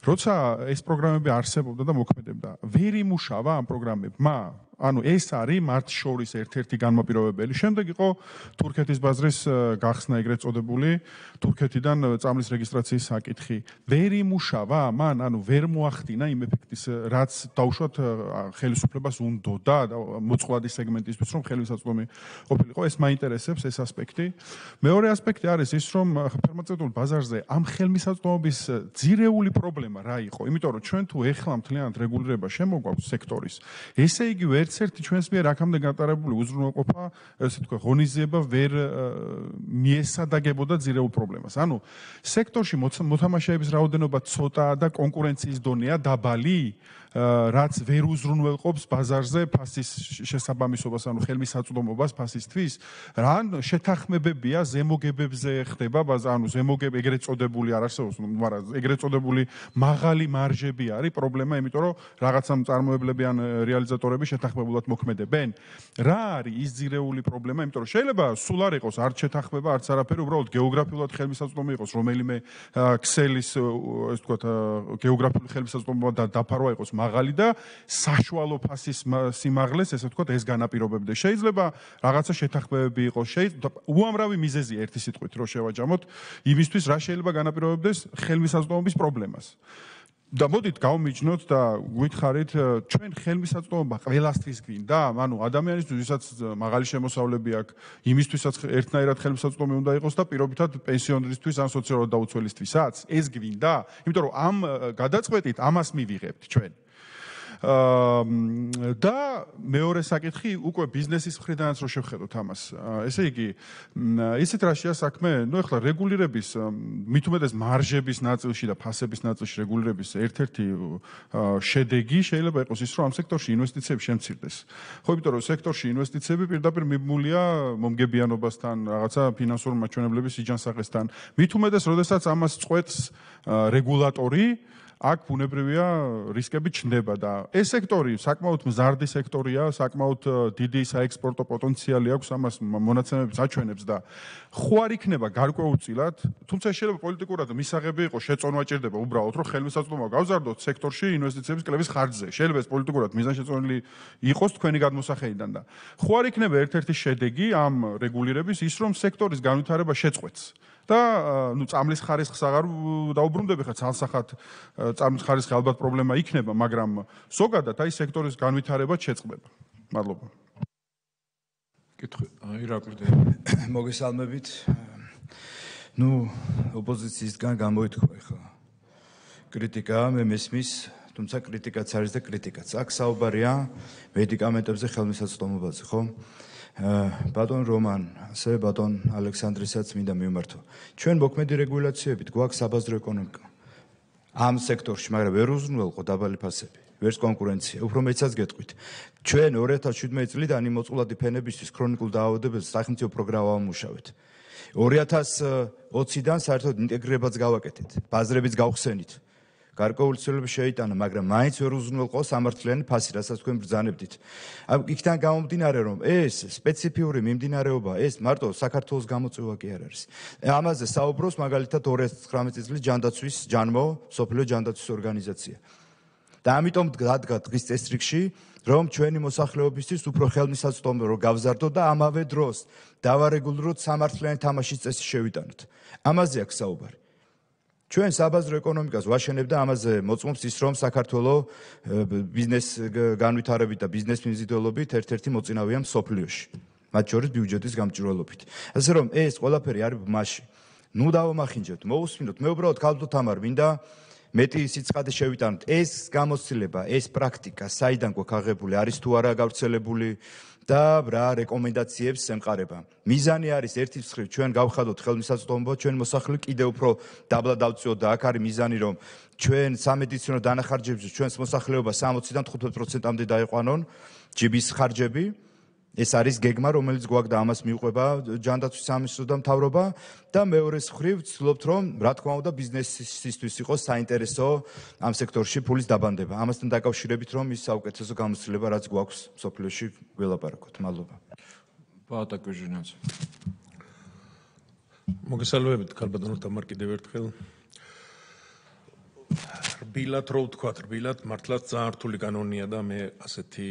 როცა ეს პროგრამები არსებობდა და მოქმედებდა, ვერ იმუშავა ამ პროგრამებმა. ანუ ეს არის მათ შორის ერთ-ერთი განმაპირობებელი. შემდეგ იყო თურქეთის ბაზრის გახსნა ეგრეთ წოდებული, თურქეთიდან წამლის რეგისტრაციის საკითხი. ვერ იმუშავა, მან ანუ ვერ მოახდინა იმ ეფექტის, რაც დაუშვათ ხელისუფლებას უნდოდა მოწყვლადი სეგმენტისთვის, რომ ხელმისაწვდომი ყოფილიყო. ეს მაინტერესებს ეს ასპექტი. მეორე ასპექტი არის ის, რომ ფარმაცევტულ ბაზარზე ამ ხელმისაწვდომობის ძირეული პრობლემა რა იყო? იმიტომ რომ ჩვენ თუ ეხლა მთლიანად რეგულირება შემოგვაქვს სექტორის, ესე იგი ერთ-ერთი ჩვენს მიერ აქამდე გატარებული უზრუნველყოფა, ესე თქვა, ღონისძიება ვერ მიესადაგებოდა ძირეულ პრობლემას. ანუ სექტორში მოთამაშეების რაოდენობა ცოტაა და კონკურენციის დონეა დაბალი, რაც ვერ უზრუნველყოფს ბაზარზე ფასის შესაბამისობას, ანუ ხელმისაწვდომობას ფასისთვის. რან შეთანხმებებია ზემოგებებზე ხდება, ანუ ზემოგებ ეგრეთ წოდებული არ არსებობს, მაგრამ ეგრეთ წოდებული მაღალი მარჟები არის პრობლემა, იმიტომ რომ რაღაცა მწარმოებლები ან რეალიზატორები შეთანხმებულად მოქმედებენ. რა არის ის ძირეული პრობლემა? იმიტომ რომ შეიძლება სულ არ იყოს არც შეთანხმება, არც არაფერი, უბრალოდ გეოგრაფიულად ხელმისაწვდომი იყოს, რომელიმე ქსელის, ესე ვთქვათ, გეოგრაფიული ხელმისაწვდომობა და დაფარვა იყოს მაღალი და საშუალო ფასის სიმაღლეს, ესე ვთქვათ, ეს განაპირობებდეს. შეიძლება რაღაცა შეთანხმებები იყოს, უამრავი მიზეზია ერთი სიტყვით რო შევაჯამოთ, იმისთვის რა შეიძლება განაპირობებდეს ხელმისაწვდომობის პრობლემას. და მოდით გავმიჯნოთ და გითხარით, ჩვენ ხელმისაწვდომობა ყველასთვის გვინდა, ანუ ადამიანისთვის, ვისაც მაღალი შემოსავლები აქვს, იმისთვისაც ერთნაირად ხელმისაწვდომი უნდა იყოს და პირობითად პენსიონერისთვის ან სოციალურად დაუცველისთვისაც. ეს გვინდა, იმიტომ რომ ამ გადაწყვეტით ამას მივიღებთ ჩვენ. და მეორე საკითხი უკვე ბიზნესის მხრიდანაც რო შევხედოთ ამას. ესე იგი, ისეთ რაშია საქმე, ნუ ეხლა რეგულირების, მით უმეტეს მარჟების ნაწილში და ფასების ნაწილში რეგულირების ერთ-ერთი შედეგი შეიძლება იყოს ის, რომ ამ სექტორში ინვესტიციები შემცირდეს. ხო, იმიტომ რომ სექტორში ინვესტიციები პირდაპირ მიბმულია მომგებიანობასთან, რაღაცა ფინანსური მაჩვენებლების სიჯანსაღესთან. მით უმეტეს, როდესაც ამას წყვეტს რეგულატორი, აქ ბუნებრივია რისკები ჩნდება და ეს სექტორი საკმაოდ მზარდი სექტორია, საკმაოდ დიდი საექსპორტო პოტენციალი აქვს, ამას მონაცემებიც აჩვენებს და ხო არ იქნება გარკვეულწილად, თუმცა შეიძლება პოლიტიკურად მისაღები იყოს, შეწონვა ჭირდება უბრალოდ, რომ ხელმისაწვდომობა გავზარდოთ სექტორში ინვესტიციების კლების ხარჯზე. შეიძლება ეს პოლიტიკურად მიზანშეწონილი იყოს თქვენი გადმოსახედიდან და ხო არ იქნება ერთ-ერთი შედეგი ამ რეგულირების ის, რომ სექტორის განვითარება შეწყვეტს. და ნუ წამლის ხარისხს აღარ დაუბრუნდები ხა ცალსახად წამლის ხარისხი ალბათ პრობლემა იქნება, მაგრამ ზოგადად აი სექტორის განვითარება შეწყდება. მადლობა. კითხვა, ირაკლი. მოგესალმებით. ნუ ოპოზიციისგან გამოითქვა ხა კრიტიკა, მე მესმის, თუმცა კრიტიკაც არის და კრიტიკაც. აქ საუბარია მედიკამენტებზე ხელმისაწვდომობაზე, ხო? ბატონ რომან, ასე ბატონ ალექსანდრისაც მინდა მივმართო. ჩვენ მოქმედი რეგულაციებით გვაქვს საბაზრო ეკონომიკა. ამ სექტორში, მაგრამ ვერ უზრუნველყო დაბალი ფასები, ვერც კონკურენცია. უფრო მეცაც გეტყვით. ჩვენ 2017 წლიდან იმ მოწყვლადი ფენებისთვის ქრონიკულ დაავადებებს სახელმწიფო პროგრამა ვამუშავეთ. 2020-დან საერთოდ ინტეგრირებაც გავაკეთეთ, ბაზრებიც გავხსენით. გარკვეული ცვლილებები შეიტანა, მაგრამ მაინც ვერ უზრუნველყო სამართლიანი ფასი, რასაც თქვენ ბრძანებდით. იქიდან გამომდინარე, რომ ეს სპეციფიური მიმდინარეობა, ეს მარტო საქართველოს გამოწვევა კი არ არის. ამაზე საუბრობს მაგალითად 2019 წლის ჯანდაცვის ჯანმო, სოფლიო ჯანდაცვის ორგანიზაცია. და ამიტომ დადგა დღის წესრიგში, რომ ჩვენი მოსახლეობისთვის უფრო ხელმისაწვდომი რო გავზარდოთ და ამავე დროს დავარეგულიროთ სამართლიანი თამაშის წესი შევიტანოთ. ამაზე აქვს საუბარი. ჩვენ საბაზრო ეკონომიკას ვაშენებ და ამაზე მოწმობს ის, რომ საქართველოს ბიზნეს განვითარებით და ბიზნეს მიზიდველობით ერთ-ერთი მოწინავეა მსოფლიოში, მათ შორის ბიუჯეტის გამჭვირვალობით. ასე რომ ეს ყველაფერი არის ბმაში. ნუ დავამახინჯებთ, მოусმინოთ. მე უბრალოდ ქალბატონ თამარ მინდა მეტი სიცხადე შევიტანოთ. ეს გამოცდილება, ეს პრაქტიკა საიდან გვაქვს აღებული, არის თუ არა გავრცელებული და რა რეკომენდაციებს ემყარება. მიზანი არის ერთი მხრივ ჩვენ გავხადოთ ხელმისაწვდომობა, ჩვენ მოსახლე კიდევ უფრო დაბლა დავწიოთ და აქ არის მიზანი რომ ჩვენ სამედიცინო დანახარჯებზე ჩვენს მოსახლეობა 60-დან 15%-მდე დაიყვანონ ჯიბის ხარჯები. ეს არის გეგმა, რომელიც გვაქვს და ამას მიუყვება ჯანდაცვის სამინისტრო და მთავრობა და მეორეს მხრივ ვცდილობთ რომ რა თქმა უნდა ბიზნესისთვის იყოს საინტერესო ამ სექტორში ფულის დაბანდება. ამასთან დაკავშირებით რომ ის საუკეთესო გამოცდილება რაც გვაქვს სოფლიოში ველაპარაკოთ. მადლობა. ბატონო კუჟინაძე. მოგესალმებით ქალბატონო თამარ კიდევ ერთხელ. რბილად რო ვთქვათ, რბილად მართლაც ძალიან რთული კანონია და მე ასეთი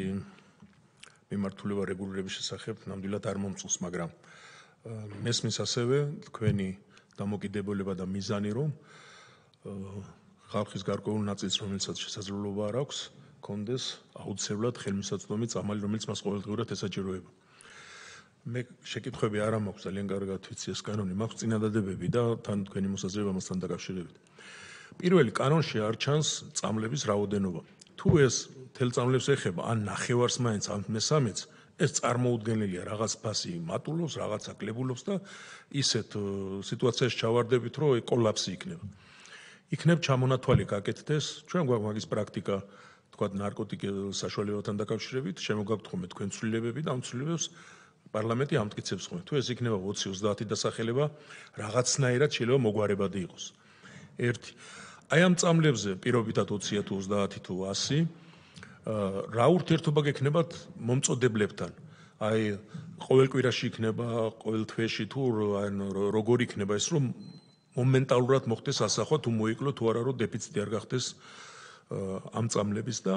მიმართულება რეგულირების შესახებ ნამდვილად არ მომწონს, მაგრამ მესმის ასევე თქვენი დამოკიდებულება და მიზანი რომ ხალხის გარკვეულ ნაწილს, რომელსაც შესაძლებლობა არ აქვს, კონდეს აუცილებლად ხელმისაწვდომი წამალი, რომელიც მას ყოველდღიურად ესაჭიროება. მე შეკითხვები არ მაქვს ძალიან კარგად ვიცი ეს კანონი, მაქვს წინადადებები და თან თქვენი მოსაზრება მასთან დაკავშირებით. პირველი კანონში არ ჩანს წამლების რაოდენობა. თუ ეს თელ წამლებს ეხება, ან ნახევარს მაინც, ან მესამეც, ეს წარმოუდგენელია, რაღაც ფასი მატულობს, რაღაცა კლებულობს და ისეთ სიტუაციაში ჩავარდებით, რომ კოლაფსი იქნება. იქნებ ჩამონათვალი გაკეთდეს, ჩვენ გვაქვს მაგის პრაქტიკა, თქვათ ნარკოტიკის საშუალებებთან დაკავშირებით, შემოგაქვთ ხოლმე თქვენ ცვლილებები და ამ ცვლილებებს პარლამენტი ამტკიცებს ხოლმე. თუ ეს იქნება 20-30 დასახელება, რაღაცნაირად შეიძლება მოგვარებადი იყოს. ერთი. აი ამ წამლებზე პირობითად 20 თუ 30 თუ 100 რა ურთიერთობა გექნებათ მომწოდებლებთან? აი ყოველ კვირაში იქნება, ყოველ თვეში თუ როგორ იქნება ეს რომ მომენტალურად მოხდეს ასახვა თუ მოიკლო თუ არა რომ დეფიციტი არ გახდეს ამ წამლების და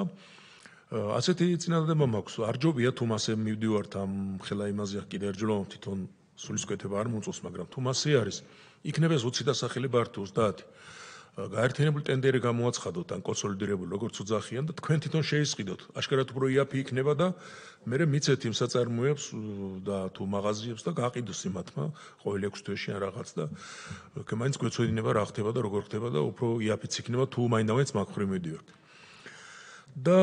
ასეთი წინადადება მაქვს. არ ჯობია თუ მასე მივდივართ ამ ხელა იმაზე კიდე ერჯლო თვითონ სულისკვეთება არ მომწონს, მაგრამ თუ მასე არის, იქნება 20 დასახელება არ თუ 30. გაერთიანებული ტენდერი გამოაცხადოთ ან კონსოლიდირებული როგორც უძახიან და თქვენ თვითონ შეისყიდოთ. აშკარად უფრო იაფი იქნება და მე მიცეთ იმ საწარმოებს და თუ მაღაზიებს და გაყიდოს იმათმა ყოველ 6 თვეში ან რაღაც და მაინც გვეცოდინება რა ხდება და როგორ ხდება და უფრო იაფიც იქნება თუ მაინც მაგ ხრი მივდივართ. და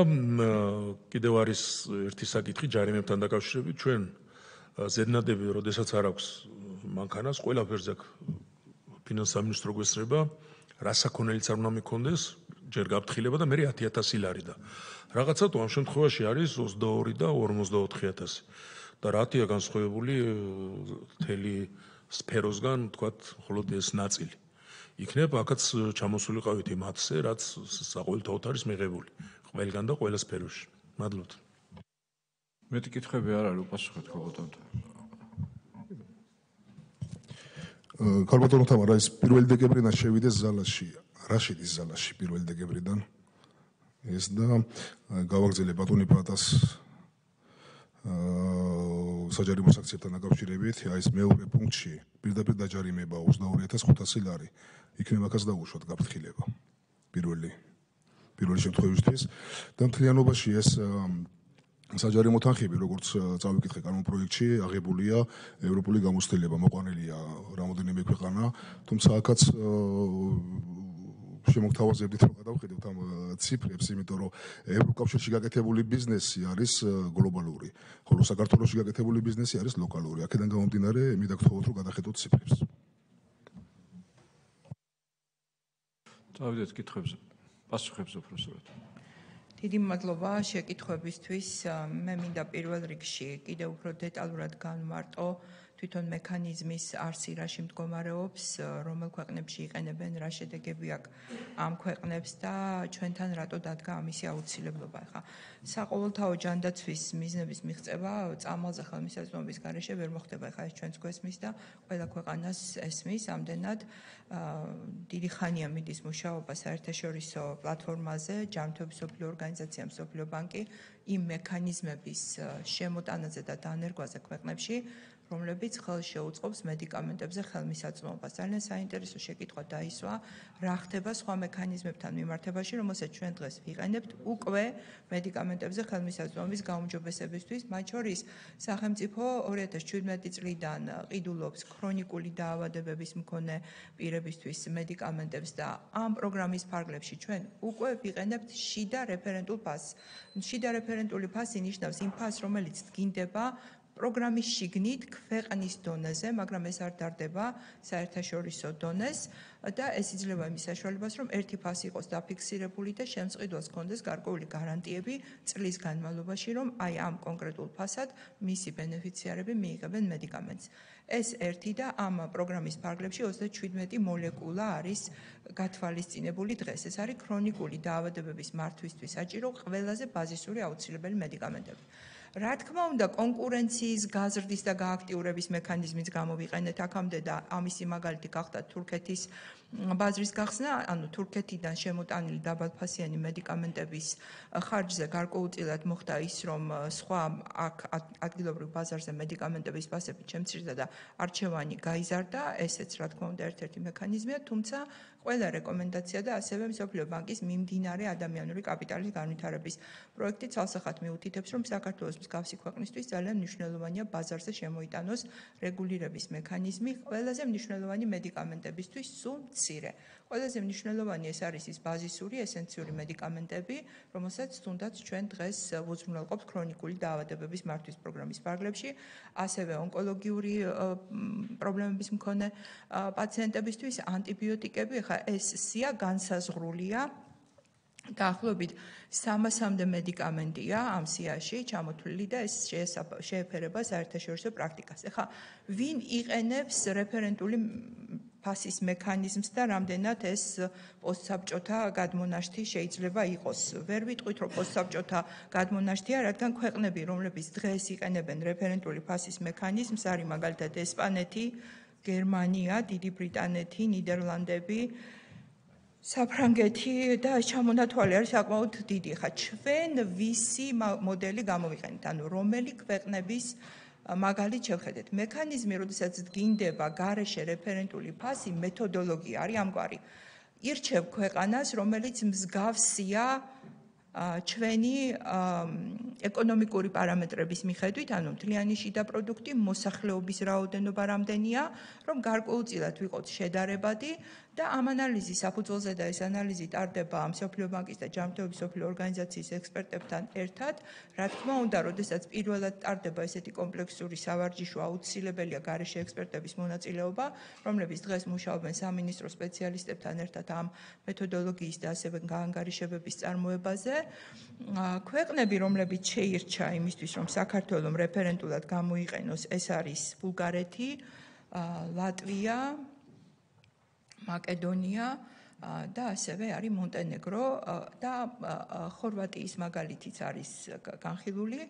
კიდევ არის ერთი საკითხი ჯარიმებთან დაკავშირებით. ჩვენ ზედნადები, როდესაც არ აქვს მანქანას, ყველაფერზე ფინანსთა სამინისტრო გვესწრება რა საქონელიც არ უნდა მიქონდეს, ჯერ გაფრთხილება და მე 10,000 ლარი და რაღაცა თუ ამ შემთხვევაში არის 22 და 54,000 და რათია განსხვავებული მთელი სფეროსგან, თქვათ, მხოლოდ ეს ნაწილი. იქნებ აქაც ჩამოსულიყავით იმათზე, რაც საყოველთაოდ არის მიღებული, ყველგან და ყველა სფეროში. მადლობთ. მეტი კითხვები არ არის, უპასუხეთ ქალბატონთან. ქალბატონო თამარ, ეს 1 დეკემბრიდან შევიდეს ზალაში. რა შედის ზალაში 1 დეკემბრიდან? ეს და გავაგზავნე ბატონი პატას საჯარიმო საქციებთან დაკავშირებით, აი ეს მეორე პუნქტში პირდაპირ დაჯარიმება 22,500 ლარი. იქნება ახაც დაუშვათ გაფრთხილება. პირველი შემთხვევისთვის და მთლიანობაში ეს საჯარიმო თანხები, როგორც წავიკითხე კანონ პროექტში, აღებულია ევროპული გამოცდილება, მოყვანილია რამოდენიმე ქვეყანა, თუმცა აქაც შემოგთავაზებდით რომ გადავხედოთ ამ ციფრებს, იმიტომ რომ ევროკავშირში გაკეთებული ბიზნესი არის გლობალური, ხოლო საქართველოში გაკეთებული ბიზნესი არის ლოკალური. აქედან გამომდინარე, მე დაგთხოვოთ რომ გადახედოთ ციფრებს. წავიდეთ კითხვებზე. პასუხებს უბრალოდ. დიდი მადლობა შეკითხვებისთვის. მე მინდა პირველ რიგში კიდევ უფრო დეტალურად განვმარტო თვითონ მექანიზმის არსი რაში მდგომარეობს, რომელ ქვეყნებში იყენებენ, რა შედეგები აქვს ამ ქვეყნებს და ჩვენთან რატო დადგა ამისი აუცილებლობა. ხა საყოველთაო ჯანდაცვის მიზნების მიღწევა წამალზე ხელმისაწვდომობის გარეშე ვერ მოხდება. ხა ეს ჩვენს გვესმის და ყველა ქვეყანას ესმის. ამდენად დიდი ხანია მიდის მუშაობა საერთაშორისო პლატფორმაზე, ჯანმრთელობის მსოფლიო ორგანიზაცია, მსოფლიო ბანკი იმ მექანიზმების შემოტანაზე და დანერგვაზე ქვეყნებში, რომლებიც ხელს შეუწყობს მედიკამენტებზე ხელმისაწვდომობას. ძალიან საინტერესო შეკითხვა დაისვა, რა ხდება სხვა მექანიზმებთან მიმართებაში, რომელსაც ჩვენ დღეს ვიყენებთ უკვე მედიკამენტებზე ხელმისაწვდომობის გაუმჯობესებისთვის, მათ შორის სახელმწიფო 2017 წლიდან ყიდულობს ქრონიკული დაავადებების მქონე პირებისთვის მედიკამენტებს და ამ პროგრამის ფარგლებში ჩვენ უკვე ვიყენებთ შიდა რეფერენტულ ფასს. შიდა რეფერენტული ფასი ნიშნავს იმ ფასს, რომელიც დგინდება პროგრამის შიგნით ქვეყნის დონეზე, მაგრამ ეს არ დარდება საერთაშორისო დონეს და ეს იძლევა იმის საშუალებას, რომ ერთი ფასი იყოს დაფიქსირებული და შემწყიდველს ჰქონდეს გარკვეული გარანტიები წლის განმავლობაში, რომ აი ამ კონკრეტულ ფასად მისი ბენეფიციარები მიიღებენ მედიკამენტს. ეს ერთი და ამ პროგრამის ფარგლებში 37 მოლეკულა არის გათვალისწინებული დღეს. ეს არის ქრონიკული დაავადებების მართვისთვის საჭირო ყველაზე ბაზისური აუცილებელი მედიკამენტები. რა თქმა უნდა, კონკურენციის გაზრდის და გააქტიურების მექანიზმიც გამოვიყენეთ აქამდე და ამისი მაგალითი გახდა თურქეთის ბაზრის გახსნა, ანუ თურქეთიდან შემოტანილი დაბალფასიანი მედიკამენტების ხარჯზე გარკვეულწილად მოხდა ის, რომ სხვა აქ ადგილობრივ ბაზარზე მედიკამენტების ფასები შემცირდა და არჩევანი გაიზარდა, ესეც რა თქმა უნდა ერთ-ერთი მექანიზმია, თუმცა ყველა რეკომენდაცია და ასევე მსოფლიო ბანკის მიმდინარე ადამიანური კაპიტალის განვითარების პროექტი ცალსახად მიუთითებს, რომ საქართველოს მსგავსი ქვეყნისთვის ძალიან მნიშვნელოვანია ბაზარზე შემოიტანოს რეგულირების მექანიზმი ყველაზე მნიშვნელოვანი მედიკამენტებისთვის სულ მცირე. ყველაზე მნიშვნელოვანი ეს არის ის ბაზისური ესენციური მედიკამენტები, რომელსაც თუნდაც ჩვენ დღეს უზრუნველყოფს ქრონიკული დაავადებების მართვის პროგრამის ფარგლებში, ასევე ონკოლოგიური პრობლემების მქონე პაციენტებისთვის ანტიბიოტიკები, ხა ეს სია განსაზღვრულია დაახლოებით 300-მდე მედიკამენტია ამ სიაში ჩამოთვლილი და ეს შეეფერება საერთაშორისო პრაქტიკას. ეხლა ვინ იყენებს რეფერენტული ფასის მექანიზმს და რამდენად ეს პოსტსაბჭოთა გადმონაშთი შეიძლება იყოს. ვერ ვიტყვით, რომ პოსტსაბჭოთა გადმონაშთია, რადგან ქვეყნები, რომლებიც დღეს იყენებენ რეფერენტული ფასის მექანიზმს, არის მაგალითად ესპანეთი, გერმანია, დიდი ბრიტანეთი, ნიდერლანდები, საფრანგეთი და ჩამონათვალი არის საკმაოდ დიდი. ხა ჩვენ ვისი მოდელი გამოვიყენეთ, ანუ რომელი ქვეყნების მაგალითად შევხედეთ. მექანიზმი, როდესაც დგინდება გარეშე რეფერენტული ფასი, მეთოდოლოგია არის ამგვარი. ირჩევ ქვეყანას, რომელიც მსგავსია ჩვენი ეკონომიკური პარამეტრების მიხედვით, ანუ მთლიანი შიდა პროდუქტი, მოსახლეობის რაოდენობა რამდენია, რომ გარკვეულწილად ვიყოთ შედარებადი და ამ ანალიზის საფუძველზე და ეს ანალიზი ტარდება მსოფლიო ბანკის და ჯანმრთელობის მსოფლიო ორგანიზაციის ექსპერტებთან ერთად. რა თქმა უნდა, როდესაც პირველად ტარდება ესეთი კომპლექსური სავარჯიშო, აუცილებელია გარეშე ექსპერტების მონაწილეობა, რომლებიც დღეს მუშაობენ სამინისტრო სპეციალისტებთან ერთად ამ მეთოდოლოგიის და ასევე გაანგარიშებების წარმოებაზე. ქვეყნები, რომლებიც შეირჩა იმისთვის, რომ საქართველოს რეფერენტულად გამოიყენოს, ეს არის ბულგარეთი, ლატვია, მაკედონია და ასევე არის მონტენეგრო და ხორვატიის მაგალითიც არის განხილული.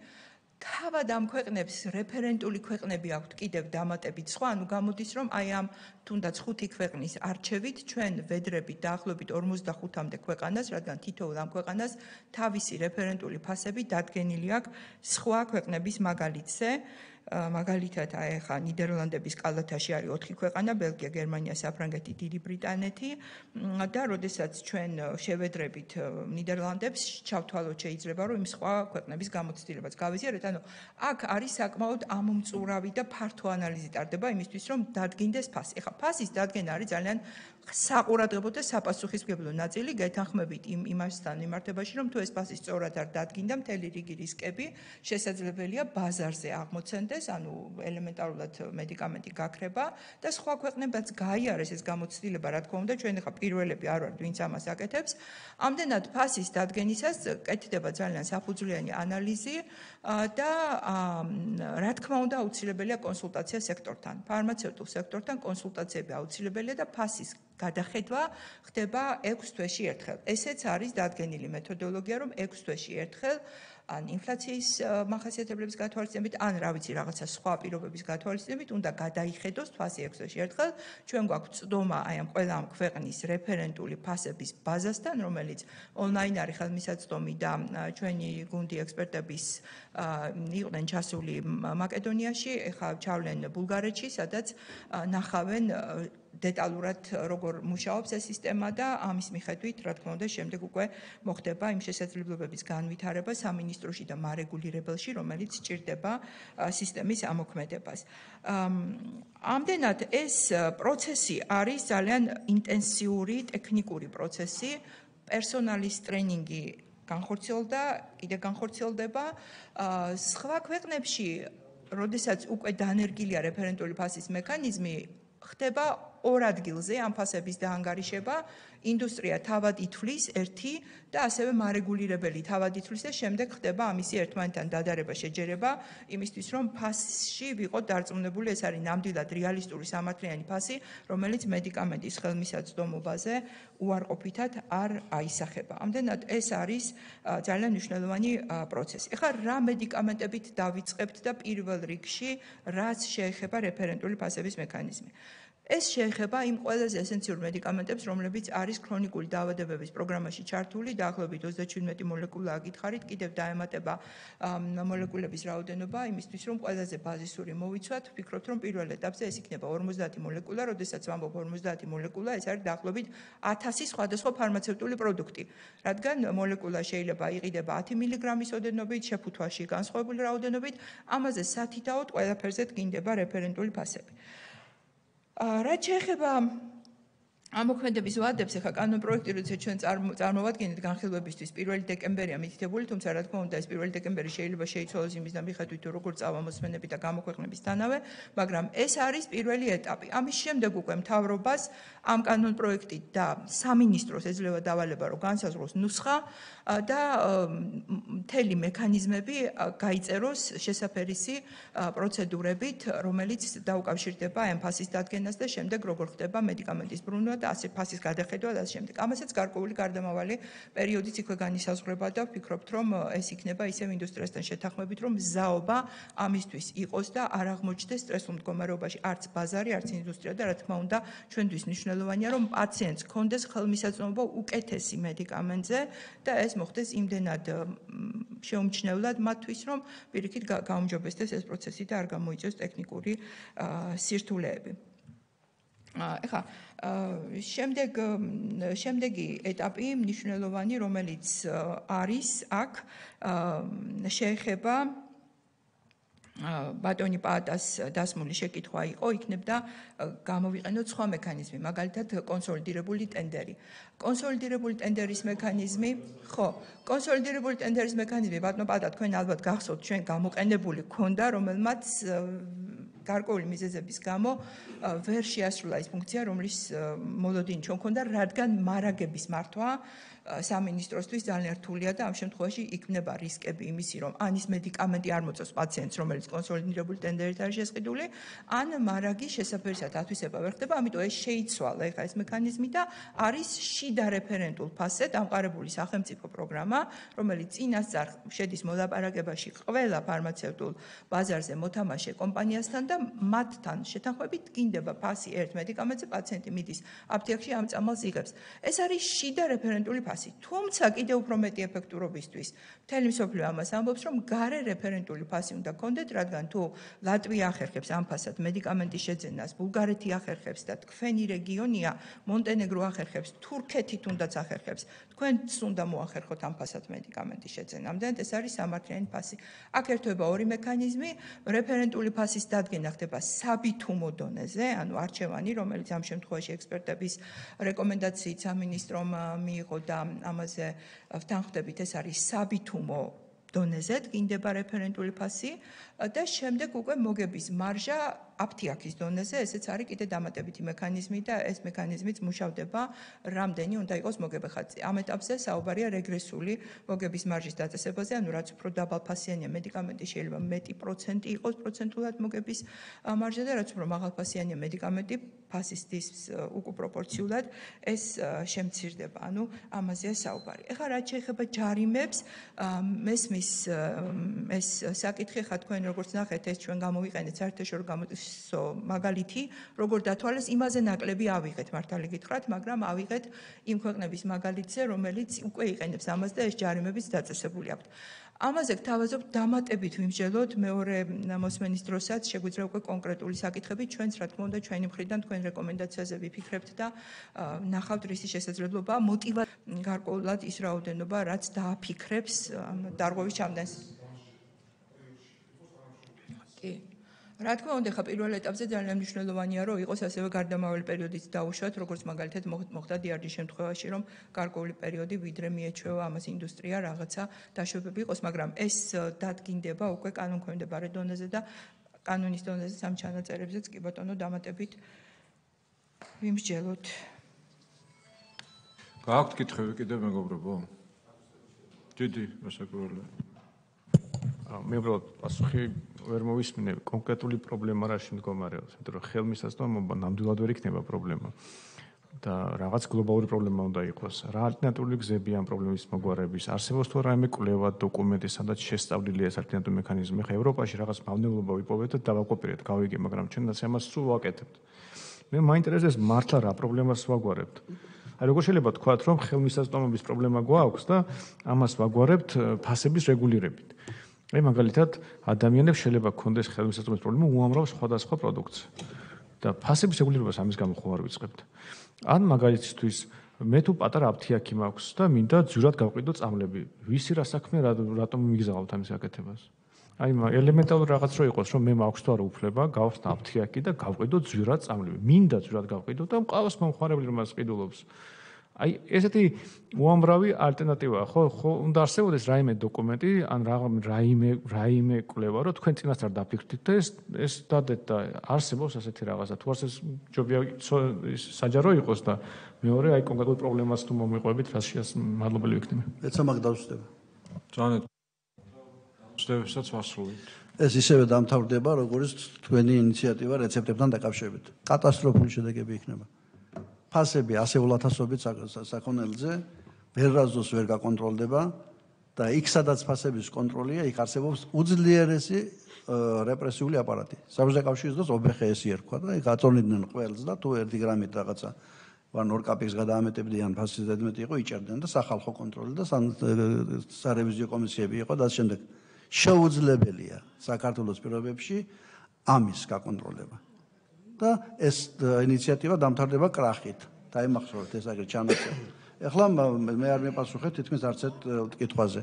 თავად ამ ქვეყნებს რეფერენტული ქვეყნები აქვთ კიდევ დამატებით სხვა, ანუ გამოდის, რომ აი ამ თუნდაც 5 ქვეყნის არჩევით ჩვენ ვედრებით დაახლოებით 45-მდე ქვეყანას, რადგან თითოეულ ამ ქვეყანას თავისი რეფერენტული ფასები დადგენილი აქვს სხვა ქვეყნების მაგალითზე. მაგალითად, აი ხა ნიდერლანდების კალათაში არის 4 ქვეყანა, ბელგია, გერმანია, საფრანგეთი, დიდი ბრიტანეთი და როდესაც ჩვენ შევედრებით ნიდერლანდებს, ჩავთვალოთ შეიძლება, რომ იმ სხვა ქვეყნების გამოცდილებაც გავიზიარეთ, ანუ აქ არის საკმაოდ ამომწურავი და ფართო ანალიზი ტარდება იმისთვის, რომ დადგინდეს ფასი. ეხლა ფასის დადგენა არის ძალიან საყურადღებო და საპასუხისმგებლო ნაწილი, გეთანხმებით იმასთან მიმართებაში, რომ თუ ეს ფასი სწორად არ დადგინდა, მთელი რიგი რისკები შესაძლებელია ბაზარზე აღმოცენდეს, ანუ ელემენტარულად მედიკამენტი გაქრება და სხვა ქვეყნებაც გაიარეს ეს გამოცდილება, რა თქმა უნდა, ჩვენ ახლა პირველები არ ვართ, ვინც ამას აკეთებს. ამდენად ფასის დადგენისას კეთდება ძალიან საფუძვლიანი ანალიზი და რა თქმა უნდა, აუცილებელია კონსულტაცია სექტორთან, ფარმაცევტულ სექტორთან კონსულტაციები აუცილებელია და ფასის გადახედვა ხდება 6 თვეში ერთხელ. ესეც არის დადგენილი მეთოდოლოგია, რომ 6 თვეში ერთხელ ან ინფლაციის მახასიათებლების გათვალისწინებით, ან რა ვიცი, რაღაცა სხვა პირობების გათვალისწინებით უნდა გადაიხედოს ფასი 6 თვეში ერთხელ. ჩვენ გვაქვს წდომა აი ამ ყველა ამ ქვეყნის რეფერენტული ფასების ბაზასთან, რომელიც ონლაინ არის ხელმისაწვდომი და ჩვენი გუნდი ექსპერტების იყვნენ ჩასული მაკედონიაში, ეხლა ჩავლენ ბულგარეთში, სადაც ნახავენ დეტალურად როგორ მუშაობს ეს სისტემა და ამის მიხედვით, რა თქმა უნდა, შემდეგ უკვე მოხდება იმ შესაძლებლობების განვითარება სამინისტროში და მარეგულირებელში, რომელიც სჭირდება სისტემის ამოქმედებას. ამდენად ეს პროცესი არის ძალიან ინტენსიური ტექნიკური პროცესი, პერსონალის ტრენინგი განხორციელდა, კიდე განხორციელდება. სხვა ქვეყნებში, როდესაც უკვე დანერგილია რეფერენტული ფასის მექანიზმი, ხდება ორ ადგილზე ამ ფასების დაანგარიშება, ინდუსტრია თავად ითვლის ერთი და ასევე მარეგულირებელი თავად ითვლის და შემდეგ ხდება ამისი ერთმანეთთან დადარება, შეჯერება, იმისთვის რომ ფასში ვიყოთ დარწმუნებული, ეს არის ნამდვილად რეალისტური სამართლიანი ფასი, რომელიც მედიკამენტის ხელმისაწვდომობაზე უარყოფითად არ აისახება. ამდენად ეს არის ძალიან მნიშვნელოვანი პროცესი. ეხლა რა მედიკამენტებით დავიწყებთ და პირველ რიგში რაც შეეხება რეფერენტული ფასების მექანიზმი. ეს შეეხება იმ ყველაზე ესენციურ მედიკამენტებს, რომლებიც არის ქრონიკული დაავადებების პროგრამაში ჩართული, დაახლოებით 37 მოლეკულა აკითხარით, კიდევ დაემატება მოლეკულების რაოდენობა, იმისთვის რომ ყველაზე ბაზისური მოვიცვათ, ვფიქრობთ, რომ პირველ ეტაპზე ეს იქნება 50 მოლეკულა, როდესაც ვამბობ 50 მოლეკულა, ეს არის დაახლოებით 1000 სხვადასხვა ფარმაცევტული პროდუქტი, რადგან მოლეკულა შეიძლება იყიდება 10 მილიგრამის ოდენობით, შეფუთვაში განსხვავებული რაოდენობით, ამაზე სათითაოდ ყველაფერზე დგინდება რეფერენტული ფასები. რაც შეეხება ამოქმედების ვადებს, ახლა კანონპროექტი, როდესაც ჩვენ წარმოვადგენთ განხილვებისთვის 1 დეკემბერია მითითებული, თუმცა რა თქმა უნდა ეს 1 დეკემბერი შეიძლება შეიცვალოს იმის მიხედვით, თუ როგორ წავა მოსმენები და გამოქვეყნებისთანავე, მაგრამ ეს არის პირველი ეტაპი. ამის შემდეგ უკვე მთავრობას ამ კანონპროექტით და სამინისტროს ეძლევა დავალება, რომ განსაზღვროს ნუსხა და მთელი მექანიზმები გაიწეროს შესაფერისი პროცედურებით, რომელიც დაუკავშირდება ამ ფასის დადგენას და შემდეგ როგორ ხდება მედიკამენტის ბრუნვა და ასე ფასის გადახედვა და ასე შემდეგ. ამასაც გარკვეული გარდამავალი პერიოდიც იქვე განისაზღვრება და ვფიქრობთ, რომ ეს იქნება ისევ ინდუსტრიასთან შეთანხმებით, რომ მზაობა ამისთვის იყოს და არ აღმოჩნდეს სტრესულ მდგომარეობაში არც ბაზარი, არც ინდუსტრია და რა თქმა უნდა, ჩვენთვის მნიშვნელოვანია, რომ პაციენტს ჰქონდეს ხელმისაწვდომობა უკეთესი მედიკამენტზე და ეს მოხდეს იმდენად შეუმჩნევლად მათთვის, რომ პირიქით გაუმჯობესდეს ეს პროცესი და არ გამოიწვიოს ტექნიკური სირთულეები. ეხლა შემდეგი ეტაპი მნიშვნელოვანი, რომელიც არის აქ, შეეხება ბატონი პაატას დასმული შეკითხვა იყო, იქნებდა გამოვიყენოთ სხვა მექანიზმი, მაგალითად კონსოლიდირებული ტენდერი. კონსოლიდირებული ტენდერის მექანიზმი, კონსოლიდირებული ტენდერის მექანიზმი, ბატონო პაატა, თქვენ ალბათ გახსოვთ, ჩვენ გამოყენებული ქონდა, რომელმაც გარკვეული მიზეზების გამო ვერ შეასრულა ის ფუნქცია, რომლის მოლოდინი ჩვენ ქონდა, რადგან მარაგების მართვა სამინისტროსთვის ძალიან რთულია და ამ შემთხვევაში იქნება რისკები იმისი, რომ ან ის მედიკამენტი არ მოწევს პაციენტს, რომელიც კონსოლიდირებული ტენდერით არის შესყიდული, ან მარაგი შესაფერისად ათვისება ვერ ხდება, ამიტომ ეს შეიცვალა ეხლა ეს მექანიზმი და არის შიდა რეფერენტულ ფასზე დამყარებული სახელმწიფო პროგრამა, რომელიც წინასწარ შედის მოლაპარაკებაში ყველა ფარმაცევტულ ბაზარზე მოთამაშე კომპანიასთან და მათთან შეთანხმებით დგინდება ფასი ერთ მედიკამენტზე, პაციენტი მიდის აფთიაქში ამ წამალს იღებს. ეს არის შიდა რეფერენტული ფასი. თუმცა კიდევ უფრო მეტი ეფექტურობისთვის მთელი მსოფლიო ამას ამბობს, რომ გარე რეფერენტული ფასი უნდა გქონდეთ, რადგან თუ ლატვია ახერხებს ამ ფასად მედიკამენტის შეძენას, ბულგარეთი ახერხებს და თქვენი რეგიონია, მონტენეგრო ახერხებს, თურქეთი თუნდაც ახერხებს, თქვენც უნდა მოახერხოთ ამ ფასად მედიკამენტის შეძენა. ამდენად ეს არის სამართლიანი ფასი. აქ ერთვება ორი მექანიზმი, რეფერენტული ფასის დადგენა ხდება საბითუმო დონეზე, ანუ არჩევანი, რომელიც ამ შემთხვევაში ექსპერტების რეკომენდაციით სამინისტრომ მიიღო და ამაზე ვთანხმდებით, ეს არის საბითუმო დონეზე დგინდება რეფერენტული ფასი და შემდეგ უკვე მოგების მარჟა აფთიაქის დონეზე, ესეც არის კიდე დამატებითი მექანიზმი და ეს მექანიზმიც მუშავდება, რამდენი უნდა იყოს მოგება. ამ ეტაპზე საუბარია რეგრესული მოგების მარჟის დაწესებაზე, ანუ რაც უფრო დაბალფასიანია მედიკამენტი, შეიძლება მეტი პროცენტი იყოს პროცენტულად მოგების მარჟა და რაც უფრო მაღალფასიანია მედიკამენტი, ფასისთვის უკუპროპორციულად ეს შემცირდება. ანუ ამაზეა საუბარი. ეხლა რაც შეეხება ჯარიმებს, მესმის ეს საკითხი, ხა თქვენ როგორც ნახეთ, ეს ჩვენ გამოვიყენეთ საერთაშორისო მაგალითი, როგორ დათვალეს, იმაზე ნაკლები ავიღეთ, მართალი გითხრათ, მაგრამ ავიღეთ იმ ქვეყნების მაგალითზე, რომელიც უკვე იყენებს ამას და ეს ჯარიმებიც დაწესებული აქვთ. ამაზე გთავაზობ დამატებით ვიმსჯელოთ მეორე მოსმენის დროსაც, შეგვიძლია უკვე კონკრეტული საკითხები, ჩვენც რა თქმა უნდა ჩვენი მხრიდან თქვენ რეკომენდაციაზე ვიფიქრებთ და ნახავთ რისი შესაძლებლობა, მოტივაცია გარკვეულად ის რაოდენობა, რაც დააფიქრებს დარღვევის ჩამდენს. კი. რა თქმა უნდა, ხა პირველ ეტაპზე ძალიან მნიშვნელოვანია, რომ იყოს ასევე გარდამავალი პერიოდიც დაუშვათ, როგორც მაგალითად მოხდა დიარჯის შემთხვევაში, რომ გარკვეული პერიოდი ვიდრე მიეჩვევა ამას ინდუსტრია რაღაცა დაშვებები იყოს, მაგრამ ეს დადგინდება უკვე კანონქვემდებარე დონეზე და კანონის დონეზე სამ ჩანაწერებზეც კი ბატონო დამატებით ვიმსჯელოთ. გააქვთ კითხვები კიდევ მეგობრებო? დიდი მოსაკვირველია. მე უბრალოდ პასუხი ვერ მოვისმინე კონკრეტული პრობლემა რაში მდგომარეობს, იმიტომ რომ ხელმისაწვდომობა ნამდვილად ვერ იქნება პრობლემა და რაღაც გლობალური პრობლემა უნდა იყოს. რა ალტერნატიული გზები ამ პრობლემის მოგვარების არსებობს თუ რაიმე კვლევა, დოკუმენტი, სადაც შესწავლილია ეს ალტერნატიული მექანიზმი. ხა ევროპაში რაღაც მავნებლობა ვიპოვეთ და დავაკოპირეთ, გავიგე, მაგრამ ჩვენაც ამას სულ ვაკეთებთ. მე მაინტერესებს მართლა რა პრობლემას ვაგვარებთ. აი როგორ შეიძლება თქვათ, რომ ხელმისაწვდომობის პრობლემა გვაქვს და ამას ვაგვარებთ ფასების რეგულირებით. აი მაგალითად ადამიანებს შეიძლება ქონდეს ხელმისაწვდომობის პრობლემა უამრავ სხვადასხვა პროდუქტს და ფასების რეგულირებას ამის გამო ხო არ ვიწყებთ. ან მაგალითისთვის მე თუ პატარა აფთიაქი მაქვს და მინდა ძვირად გავყიდო წამლები. ვისი რა საქმე რატომ მიგზავნოთ ამის გაკეთებას? აი ელემენტარული რაღაც რო იყოს, რომ მე მაქვს თუ არა უფლება გავხსნა აფთიაქი და გავყიდო ძვირად წამლები. მინდა ძვირად გავყიდო და მყავს მომხმარებელი რომ მას ყიდულობს. აი ესეთი უამრავი ალტერნატივაა, ხო უნდა არსებობდეს რაიმე დოკუმენტი, ან რაიმე კვლევა, რომ თქვენ წინასწარ დაფიქრდით და ეს დადეთ და არსებობს ასეთი რაღაცა. თუ არსებობს ჯობია საჯარო იყოს და მეორე აი კონკრეტულ პრობლემას თუ მომიყვებით, რაშიას მადლობელი ვიქნები. ეცა მაგ დავსვდება. ძალიან დავსვდებასაც ვასრულებთ. ეს ისევე დამთავრდება, როგორც თქვენი ინიციატივა რეცეპტებთან დაკავშირებით. კატასტროფული შედეგები იქნება. ფასები ასეულ ათასობით საქონელზე ვერასდროს ვერ გაკონტროლდება და იქ სადაც ფასების კონტროლია, იქ არსებობს უძლიერესი რეპრესიული აპარატი. საბჭოთა კავშირის დროს OBХS ერქვა და იქ აწონიდნენ ყველს და თუ 1 გრამით რაღაცა ვან 2 კაპიკს გადაამეტებდიან ფასის ზედმეტი იყო, იჭერდნენ და სახალხო კონტროლი და სარევიზიო კომისიები იყო და ამ შემდეგ შეუძლებელია საქართველოს პირობებში ამის გაკონტროლება. და ეს ინიციატივა დამთავრდება კრახით. დაიმახსოვრეთ ეს აგერ ჩანაწერი. ეხლა მე არ მეპასუხებ თითქმის არც ერთ კითხვაზე.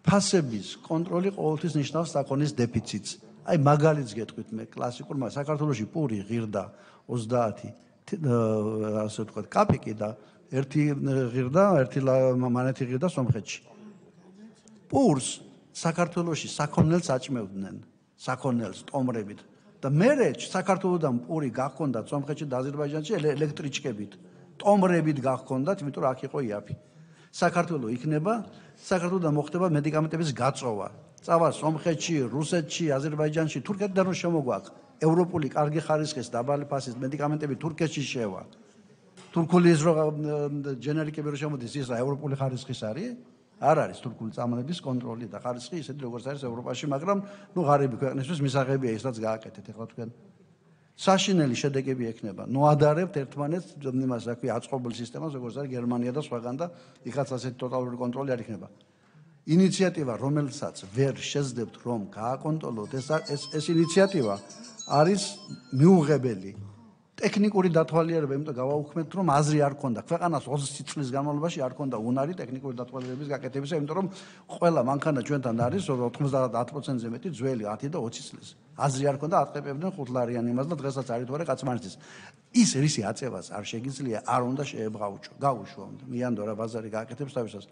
ფასების კონტროლი ყოველთვის ნიშნავს საქონლის დეფიციტს. აი მაგალითს გეტყვით მე კლასიკურ საქართველოში პური ღირდა 30 ასე ვთქვათ კაპიკი და ერთი ღირდა, ერთი მანეთი ღირდა სომხეთში. პურს საქართველოში საქონელს აჭმევდნენ, საქონელს ტომრებით. და მერე საქართველოსდან პური გახონდა სომხეთში და აზერბაიჯანში ელექტრიჩკებით, ტომრებით გახონდათ, იმიტომ რომ აქ იყო იაფი. საქართველოს იქნება, საქართველოსდან მოხდება მედიკამენტების გაწოვა. წავა სომხეთში, რუსეთში, აზერბაიჯანში, თურქეთიდან რომ შემოგვაქვს ევროპული კარგი ხარისხის დაბალი ფასის მედიკამენტები თურქეთში შევა. თურქული ის რომ ჯენერიკები რომ შემოდის, ის რა ევროპული ხარისხის არის? არ არის თურქული წამლების კონტროლი და ხარისხი ისეთი როგორც არის ევროპაში, მაგრამ ნუ ღარიბი ქვეყნისთვის მისაღებია ისაც გააკეთეთ. ეხლა თქვენ საშინელი შედეგები ექნება. ნუ ადარებთ ერთმანეთს იმას, რა ქვია, აწყობილ სისტემას, როგორც არის გერმანია და სხვაგან და იქაც ასეთი ტოტალური კონტროლი არ იქნება. ინიციატივა, რომელსაც ვერ შეძლებთ რომ გააკონტროლოთ, ეს ინიციატივა არის მიუღებელი. ტექნიკური დათვალიერება, იმიტომ გავაუქმებთ, რომ აზრი არ ქონდა. ქვეყანას 20 წლის განმავლობაში არ ქონდა უნარი ტექნიკური დათვალიერების გაკეთებისა, იმიტომ რომ ყველა მანქანა ჩვენთან არის 90%-ზე მეტი ძველი 10 და 20 წლის. აზრი არ ქონდა, ატყეპებდნენ 5 ლარიან იმას და დღესაც არის თუ არა კაცმანისის. ის რისი აწევას არ შეგიძლია, არ უნდა შეებღაუჭო. გაუშვო უნდა. მიანდო რა ბაზარი გააკეთებს თავისას.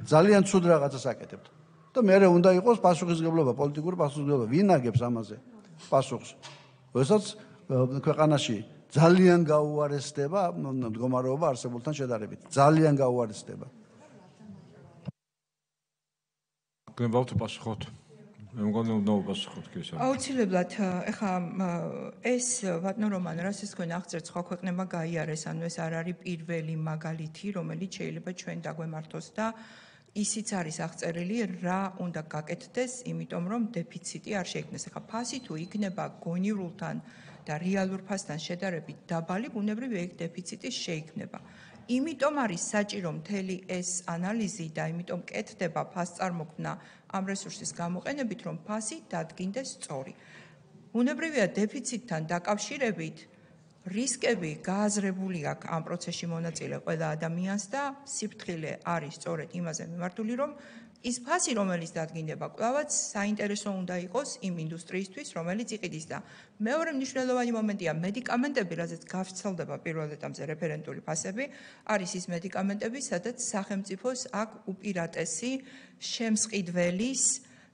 ძალიან ცუდ რაღაცას აკეთებთ. და მე უნდა იყოს პასუხისმგებლობა, პოლიტიკური პასუხისმგებლობა. ვინ აგებს ამაზე პასუხს? როდესაც ქვეყანაში ძალიან გაუარესდება მდგომარეობა არსებულთან შედარებით. ძალიან გაუარესდება. გნებავთ პასუხოთ. მე მგონი უნდა უპასუხოთ კი ეს. აუცილებლად, ეხა ეს ბატონო რომან, რასაც თქვენ აღწერთ, სხვა ქვეყნებმა გაიარეს, ანუ ეს არ არის პირველი მაგალითი, რომელიც შეიძლება ჩვენ დაგვემართოს და ისიც არის აღწერილი, რა უნდა გაკეთდეს, იმიტომ რომ დეფიციტი არ შეიქმნეს. ეხა ფასი თუ იქნება გონივრულთან და რეალურ ფასთან შედარებით დაბალი, ბუნებრივია იქ დეფიციტი შეიქმნება. იმიტომ არის საჭირო მთელი ეს ანალიზი და იმიტომ კეთდება ფასწარმოქმნა ამ რესურსის გამოყენებით, რომ ფასი დადგინდეს სწორი. ბუნებრივია დეფიციტთან დაკავშირებით რისკები გააზრებული აქვს ამ პროცესში მონაწილე ყველა ადამიანს და სიფრთხილე არის სწორედ იმაზე მიმართული, რომ ის ფასი, რომელიც დადგინდება, კვლავაც საინტერესო უნდა იყოს იმ ინდუსტრიისთვის, რომელიც იყიდის და მეორე მნიშვნელოვანი მომენტია მედიკამენტები, რაზეც გავრცელდება პირველ ეტაპზე რეფერენტული ფასები, არის ის მედიკამენტები, სადაც სახელმწიფოს აქვს უპირატესი შემსყიდველის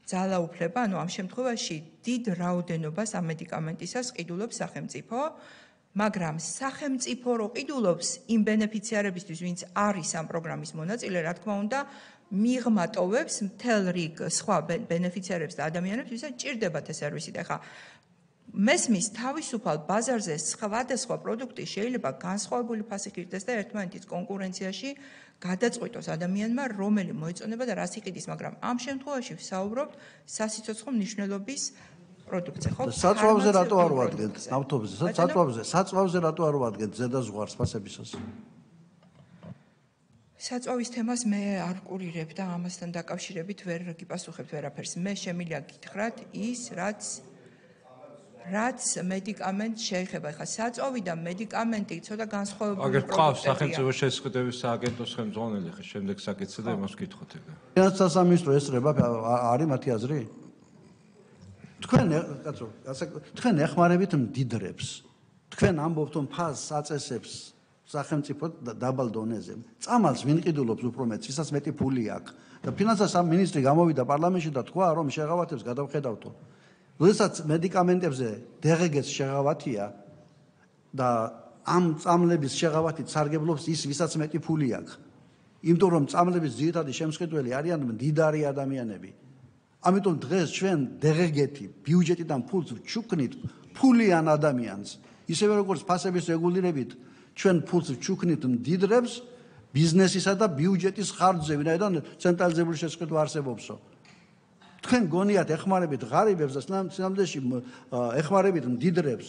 ძალაუფლება, ანუ ამ შემთხვევაში დიდ რაოდენობას ამ მედიკამენტისას ყიდულობს სახელმწიფო, მაგრამ სახელმწიფო რო ყიდულობს იმ ბენეფიციარებისთვის, ვინც არის ამ პროგრამის მონაწილე, რა თქმა უნდა, მიღმა ტოვებს მთელ რიგ სხვა ბენეფიციარებს და ადამიანებს, ვისაც ჭირდებათ ეს სერვისი. და ხა მესმის თავისუფალ ბაზარზე სხვადასხვა პროდუქტი შეიძლება განსხვავებული ფასით ირდეს და ერთმანეთის კონკურენციაში გადაწყვიტოს ადამიანმა, რომელი მოეწონება და რას იყიდის, მაგრამ ამ შემთხვევაში ვსაუბრობთ სასიცოცხლო მნიშვნელობის პროდუქტზე, ხო? საწვავზე რატო არ ვადგენთ ავტობუსზე? საწვავზე რატო არ ვადგენთ ზედაზღვარს ფასებისას? საწვავის თემას მე არ ვკურირებ და ამასთან დაკავშირებით ვერ გიპასუხებთ ვერაფერს. მე შემიძლია გითხრათ ის, რაც მედიკამენტს შეეხება. ხა საწვავი და მედიკამენტი ცოტა განსხვავებული აგერ ყავს სახელმწიფო შესყიდვების სააგენტოს ხელმძღვანელი, ხა შემდეგ საკითხზე და იმას ვკითხოთ ეგ. ფინანსთა სამინისტრო ესწრება არის მათი აზრი? თქვენ ეხმარებით მდიდრებს. თქვენ ამბობთ რომ ფასს აწესებს სახელმწიფო დაბალ დონეზე. წამალს ვინ ყიდულობს უფრო მეტს, ვისაც მეტი ფული აქვს. და ფინანსთა სამინისტრი გამოვიდა პარლამენტში და თქვა რომ შეღავათებს გადავხედავთო. როდესაც მედიკამენტებზე დღგ-ს შეღავათია და ამ წამლების შეღავათით სარგებლობს ის, ვისაც მეტი ფული აქვს. იმიტომ რომ წამლების ძირითადი შემსყიდველი არიან მდიდარი ადამიანები. ამიტომ დღეს ჩვენ დღგ-ი ბიუჯეტიდან ფულს ვჩუქნით ფულიან ადამიანს. ისევე როგორც ფასების რეგულირებით ჩვენ ფულს ვჩუქნით მდიდრებს ბიზნესისა და ბიუჯეტის ხარჯზე, ვინაიდან ცენტრალიზებული შესყიდვა არსებობსო. თქვენ გონიათ ეხმარებით ღარიბებს და სინამდვილეში ეხმარებით მდიდრებს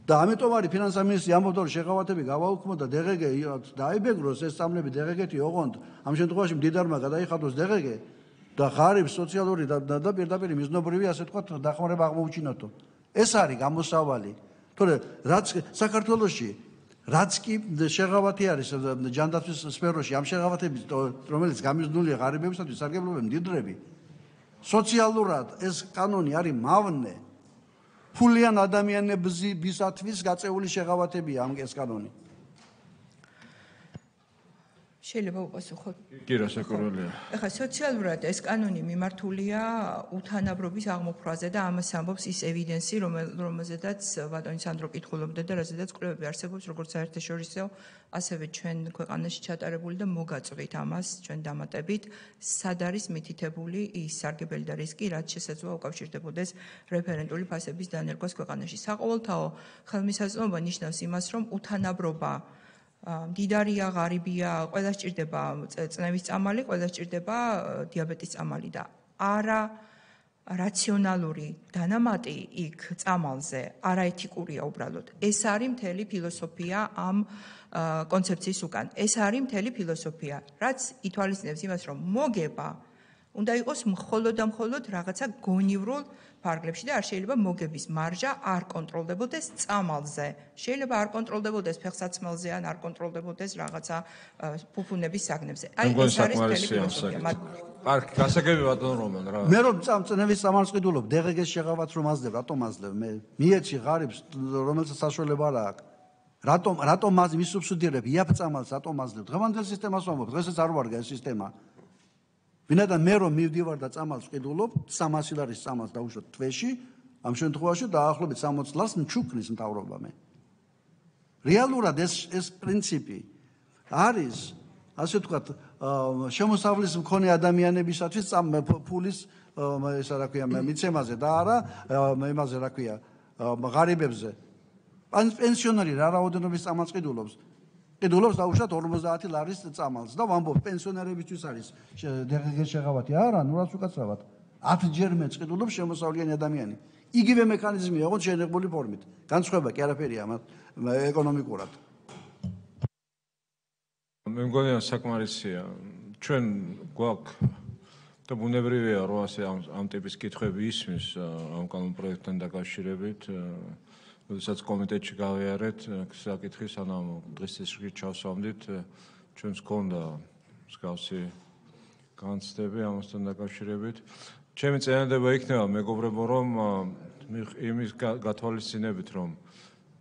და ამიტომ არის ფინანსთა მინისტრი ამბობდა რომ შეღავათები გავაუქმო და დღგ დაიბეგროს ეს წამლები დღგ-ი ოღონდ ამ შემთხვევაში მდიდარმა გადაიხადოს დღგ და ღარიბს სოციალური და პირდაპირ მიზნობრივი ასე თქვა დახმარება აღმოუჩინოთო. ეს არის გამოსავალი. თორე რაც საქართველოში რაც კი შეღავათი არის ჯანდაცვის სფეროში ამ შეღავათების რომელიც გამიზნულია ღარიბებისათვის სარგებლობენ მდიდრები სოციალურად ეს კანონი არის მავნე ფულიან ადამიანებისათვის გაწეული შეღავათებია ამ ეს კანონი. შეიძლება უპასუხოთ? კი, რასაკვირველია. ეხლა სოციალურად ეს კანონი მიმართულია უთანაბრობის აღმოფხვრაზე და ამას ამბობს ის ევიდენსი, რომელზედაც ბატონი სანდრო კითხულობდა და რაზედაც კვლევები არსებობს, როგორც საერთაშორისო, ასევე ჩვენ ქვეყანაში ჩატარებული და მოგაწვით ამას ჩვენ დამატებით, სად არის მითითებული ის სარგებელი და რისკი, რაც შესაძლოა უკავშირდებოდეს რეფერენტული ფასების დანერგვას ქვეყანაში. საყოველთაო ხელმისაწვდომობა ნიშნავს იმას, რომ უთანაბრობა მდიდარია, ღარიბია, ყველას ჭირდება წნევის წამალი, ყველას ჭირდება დიაბეტის წამალი და არა რაციონალური დანამატი იქ წამალზე არაეთიკურია უბრალოდ. ეს არის მთელი ფილოსოფია ამ კონცეფციის უკან. ეს არის მთელი ფილოსოფია, რაც ითვალისწინებს იმას, რომ მოგება უნდა იყოს მხოლოდ და მხოლოდ რაღაცა გონივრულ ფარგლებში და არ შეიძლება მოგების მარჟა არ კონტროლდებოდეს წამალზე. შეიძლება არ კონტროლდებოდეს ფეხსაცმელზე ან არ კონტროლდებოდეს რაღაცა ფუფუნების საგნებზე. აი ეს არის მთელი ფილოსოფია. არ გასაგები ბატონ რომან რა. მე რომ წნევის წამალს ყიდულობ, დღგ-ს შეღავათს რომ აძლევ, რატომ აძლევ? მე მიეცი ღარიბს, რომელსაც საშუალება არ აქვს. რატომ მისუბსიდირებ იაფ წამალს, რატომ აძლევ? დღევანდელ სისტემას ვამბობ, დღესაც არ ვარგა ეს სისტემა. ვინაიდან მე რომ მივდივარ და წამალს ყიდულობ, 300 ლარის წამალს დავუშვებ თვეში, ამ შემთხვევაში დაახლოებით 60 ლარს მჩუქნის მთავრობა მე. რეალურად ეს პრინციპი არის, ასე ვთქვათ, შემოსავლის მქონე ადამიანებისათვის ფულის ესა რა ქვია, მიცემაზე და არა იმაზე რა ქვია, ღარიბებზე. პენსიონერი რა რაოდენობის წამალს ყიდულობს? ყიდულობს დაუშვათ 50 ლარის წამალს და ვამბობ პენსიონერებისთვის არის დღგ შეღავათი. არა, ნუ რას უკაცრავად. 10 ჯერ მეც ყიდულობს შემოსავლიანი ადამიანი. იგივე მექანიზმია, ოღონდ შენიღბული ფორმით. განსხვავება კი არაფერია ეკონომიკურად. მე მგონია საკმარისია. ჩვენ გვაქვს და ბუნებრივია რომ ასე ამ ტიპის კითხვები ისმის ამ კანონ პროექტთან დაკავშირებით. როდესაც კომიტეტში გავიარეთ საკითხი, სანამ დღის წესრიგით ჩავსვამდით, ჩვენს გქონდა მსგავსი განცდები ამასთან დაკავშირებით. ჩემი წინადადება იქნება მეგობრებო, რომ იმის გათვალისწინებით, რომ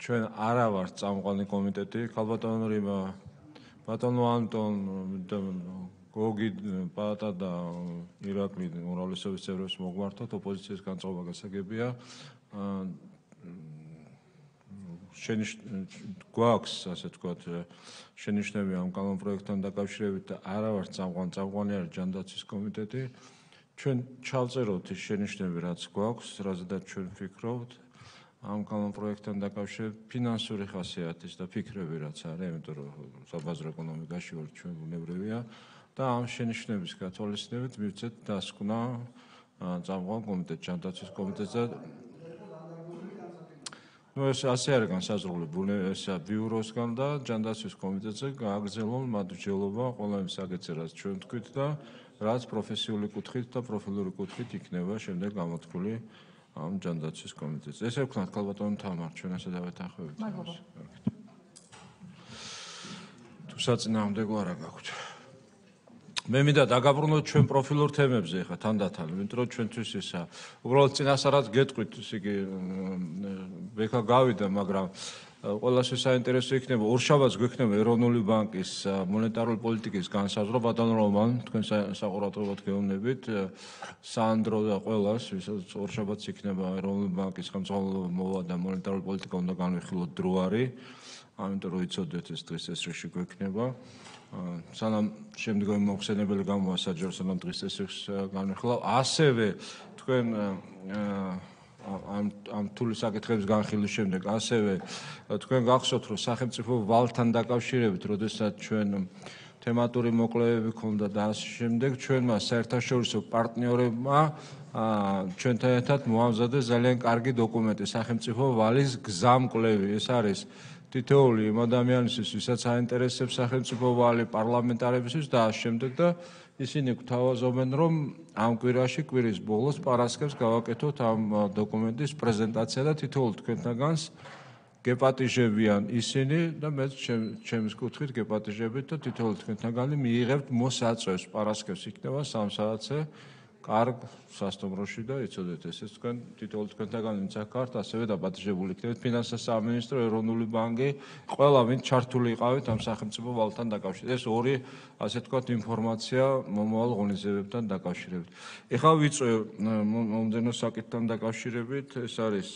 ჩვენ არა ვართ წამყვანი კომიტეტი, ქალბატონო რიმა, ბატონო ანტონ, გოგი, პატა და ირაკლი უმრავლესობის წევრებს მოგვართოთ, ოპოზიციის განწყობა გასაგებია. გვაქვს, ასე ვთქვათ, შენიშვნები ამ კანონპროექტთან დაკავშირებით და არა ვართ წამყვანი არის ჯანდაცვის კომიტეტი. ჩვენ ჩავწეროთ ის შენიშვნები, რაც გვაქვს, რაზედაც ჩვენ ვფიქრობთ ამ კანონპროექტთან დაკავშირებით ფინანსური ხასიათის და ფიქრები რაც არის, იმიტომ რომ საბაზრო ეკონომიკაში ვართ ჩვენ ბუნებრივია და ამ შენიშვნების გათვალისწინებით მივცეთ დასკვნა წამყვან კომიტეტ ჯანდაცვის კომიტეტზე. ეს ასე არის განსაზღვრული ესა ბიუროსგან და ჯანდაცვის კომიტეტზე გააგრძელონ მადლობა ყველა იმ საკითხზე, რაც ჩვენ თქვით და რაც პროფესიული კუთხით და პროფილური კუთხით იქნება შემდეგ გამოთქმული ამ ჯანდაცვის კომიტეტზე. ესე ვქნათ ქალბატონო თამარ, ჩვენ ასე დავეთანხმებით. თუ საწინააღმდეგო არა გაქვთ. მე მინდა დაგაბრუნოთ ჩვენ პროფილურ თემებზე ხა თანდათან, იმიტომ რომ ჩვენთვის ისა უბრალოდ წინასწარად გეტყვით, ისე იგი ბექა გავიდა, მაგრამ ყველასთვის საინტერესო იქნება ორშაბათს გვექნება ეროვნული ბანკის მონეტარული პოლიტიკის განსაზღვრა ბატონ რომან, თქვენ საყურადღებოდ გეუბნებით სანდრო და ყველას, ვისაც ორშაბათს იქნება ეროვნული ბანკის ხელმძღვანელობა მოვა და მონეტარული პოლიტიკა უნდა განვიხილოთ დრო არის, ამიტომ რომ იცოდეთ ეს დღეს ეს რიში გვექნება. სანამ შემდგომი მოხსენებელი გამოვა საჯარო სანამ დღის წესრიგს განვიხილავ, ასევე თქვენ ამ თული საკითხების განხილვის შემდეგ ასევე თქვენ გახსოვთ რომ სახელმწიფო ვალთან დაკავშირებით, როდესაც ჩვენ თემატური მოკვლევები ქონდა და ამ შემდეგ ჩვენმა საერთაშორისო პარტნიორებმა ჩვენთან ერთად მოამზადეს ძალიან კარგი დოკუმენტი სახელმწიფო ვალის გზამკვლევი. ეს არის თითოეული იმ ადამიანისთვის, ვისაც აინტერესებს სახელმწიფო ვალი, პარლამენტარებისთვის და ამ შემდეგ და ისინი გვთავაზობენ, რომ ამ კვირაში კვირის ბოლოს პარასკევს გავაკეთოთ ამ დოკუმენტის პრეზენტაცია და თითოეულ თქვენთაგანს გეპატიჟებიან ისინი და მე ჩემს კუთხით გეპატიჟებით და თითოეულ თქვენთაგანი მიიღებთ მოსაწვევს პარასკევს იქნება 3 საათზე კარგ სასტუმროში და იცოდეთ ესეც თქვენ თითოეულ თქვენთაგანი ვინც აქ ხართ ასევე დაპატიჟებული იქნებით ფინანსთა სამინისტრო, ეროვნული ბანკი, ყველა ვინც ჩართული იყავით ამ სახელმწიფო ვალთან დაკავშირებით. ეს ორი ასე ვთქვათ ინფორმაცია მომავალ ღონისძიებებთან დაკავშირებით. ეხლა ვიწვევ მომდენო საკითხთან დაკავშირებით, ეს არის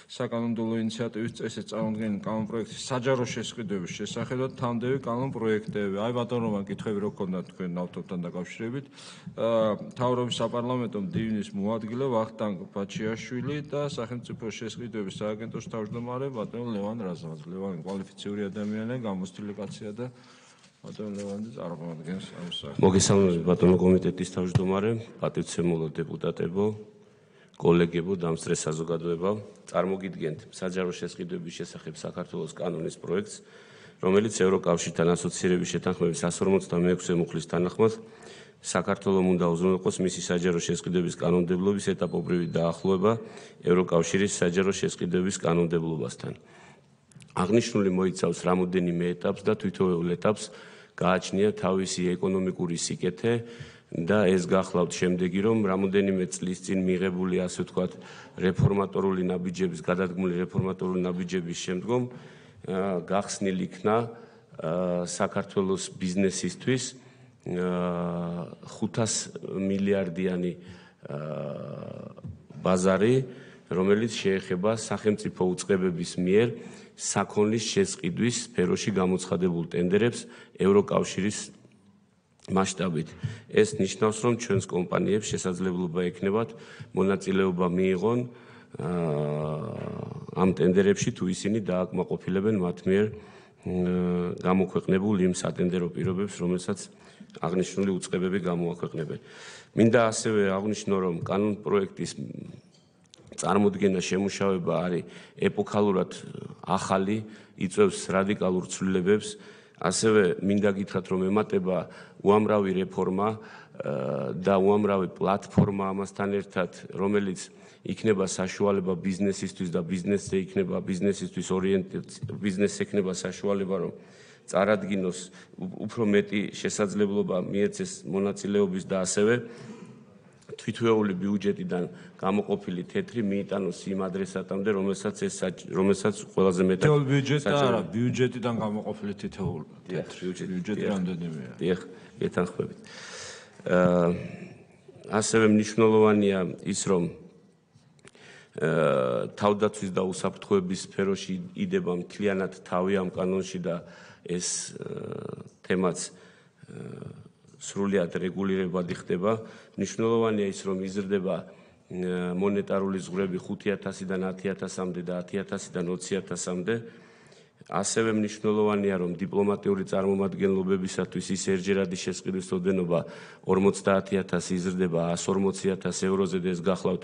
საკანონმდებლო ინიციატივის წესით წარმოქმნილი კანონპროექტის საჯარო შესყიდვების შესახებ თანმდევი კანონპროექტები. აი ბატონო რომან კითხვები რო გქონდათ თქვენ ავტორთან დაკავშირებით. მთავრობის საპარლამენტო მდივნის მოადგილე ვახტანგ ბაჩიაშვილი და სახელმწიფო შესყიდვების სააგენტოს თავმჯდომარე ბატონო ლევან რაზმაძე. ლევანი კვალიფიციური ადამიანია, გამოცდილი კაცია და ბატონო ლევანი წარმოადგენს ამ საქმეს. მოგესალმებით ბატონო კომიტეტის თავმჯდომარე, პატივცემულო დეპუტატებო, კოლეგებო, დამსწრე საზოგადოება, წარმოგიდგენთ საჯარო შესყიდვების შესახებ საქართველოს კანონის პროექტს, რომელიც ევროკავშირთან ასოცირების შეთანხმების 156 მუხლის თანახმად საქართველოს უნდა უზრუნველყოს მისი საჯარო შესყიდვების კანონმდებლობის ეტაპობრივი დაახლოება ევროკავშირის საჯარო შესყიდვების კანონმდებლობასთან. აღნიშნული მოიცავს რამოდენიმე ეტაპს და თითოეულ ეტაპს გააჩნია თავისი ეკონომიკური სიკეთე და ეს გახლავთ შემდეგი, რომ რამოდენიმე წლის წინ მიღებული ასე ვთქვათ რეფორმატორული ნაბიჯების, გადადგმული რეფორმატორული ნაბიჯების შემდგომ გახსნილ იქნა საქართველოს ბიზნესისთვის 500 მილიარდიანი ბაზარი, რომელიც შეეხება სახელმწიფო უწყებების მიერ საქონლის შესყიდვის სფეროში გამოცხადებულ ტენდერებს ევროკავშირის მასშტაბით. ეს ნიშნავს, რომ ჩვენს კომპანიებს შესაძლებლობა ექნებათ მონაწილეობა მიიღონ ამ ტენდერებში, თუ ისინი დააკმაყოფილებენ მათ მიერ გამოქვეყნებულ იმ სატენდერო პირობებს, რომელსაც აღნიშნული უწყებები გამოაქვეყნებენ. მინდა ასევე აღვნიშნო, რომ კანონპროექტის წარმოდგენა შემუშავება არის ეპოქალურად ახალი, იწვევს რადიკალურ ცვლილებებს. ასევე მინდა გითხრათ, რომ ემატება უამრავი რეფორმა და უამრავი პლატფორმა ამასთან ერთად, რომელიც იქნება საშუალება ბიზნესისთვის და ბიზნესზე იქნება ბიზნესისთვის ბიზნესს ექნება საშუალება, რომ წარადგინოს უფრო მეტი შესაძლებლობა მიეცეს მონაწილეობის და ასევე თვითვეული ბიუჯეტიდან გამოყოფილი თეთრი მიიტანოს იმ ადრესატამდე, რომელსაც ყველაზე მეტად ბიუჯეტი არა, ბიუჯეტიდან გამოყოფილი თითოეული თეთრი ბიუჯეტი რამდენიმეა. დიახ, გეთანხმებით. ასევე მნიშვნელოვანია ის, რომ თავდაცვის და უსაფრთხოების სფეროში იდება მთლიანად თავი ამ კანონში და ეს თემაც სრულად რეგულირებადი ხდება. მნიშვნელოვანია ის, რომ იზრდება მონეტარული ზღვრები 5,000-დან 10,000-მდე და 10,000-დან 20,000-მდე. ასევე მნიშვნელოვანია, რომ დიპლომატიური წარმომადგენლობებისათვის ის ერთჯერადი შესყიდვის ოდენობა 50,000 იზრდება 140,000 ევროზე და ეს გახლავთ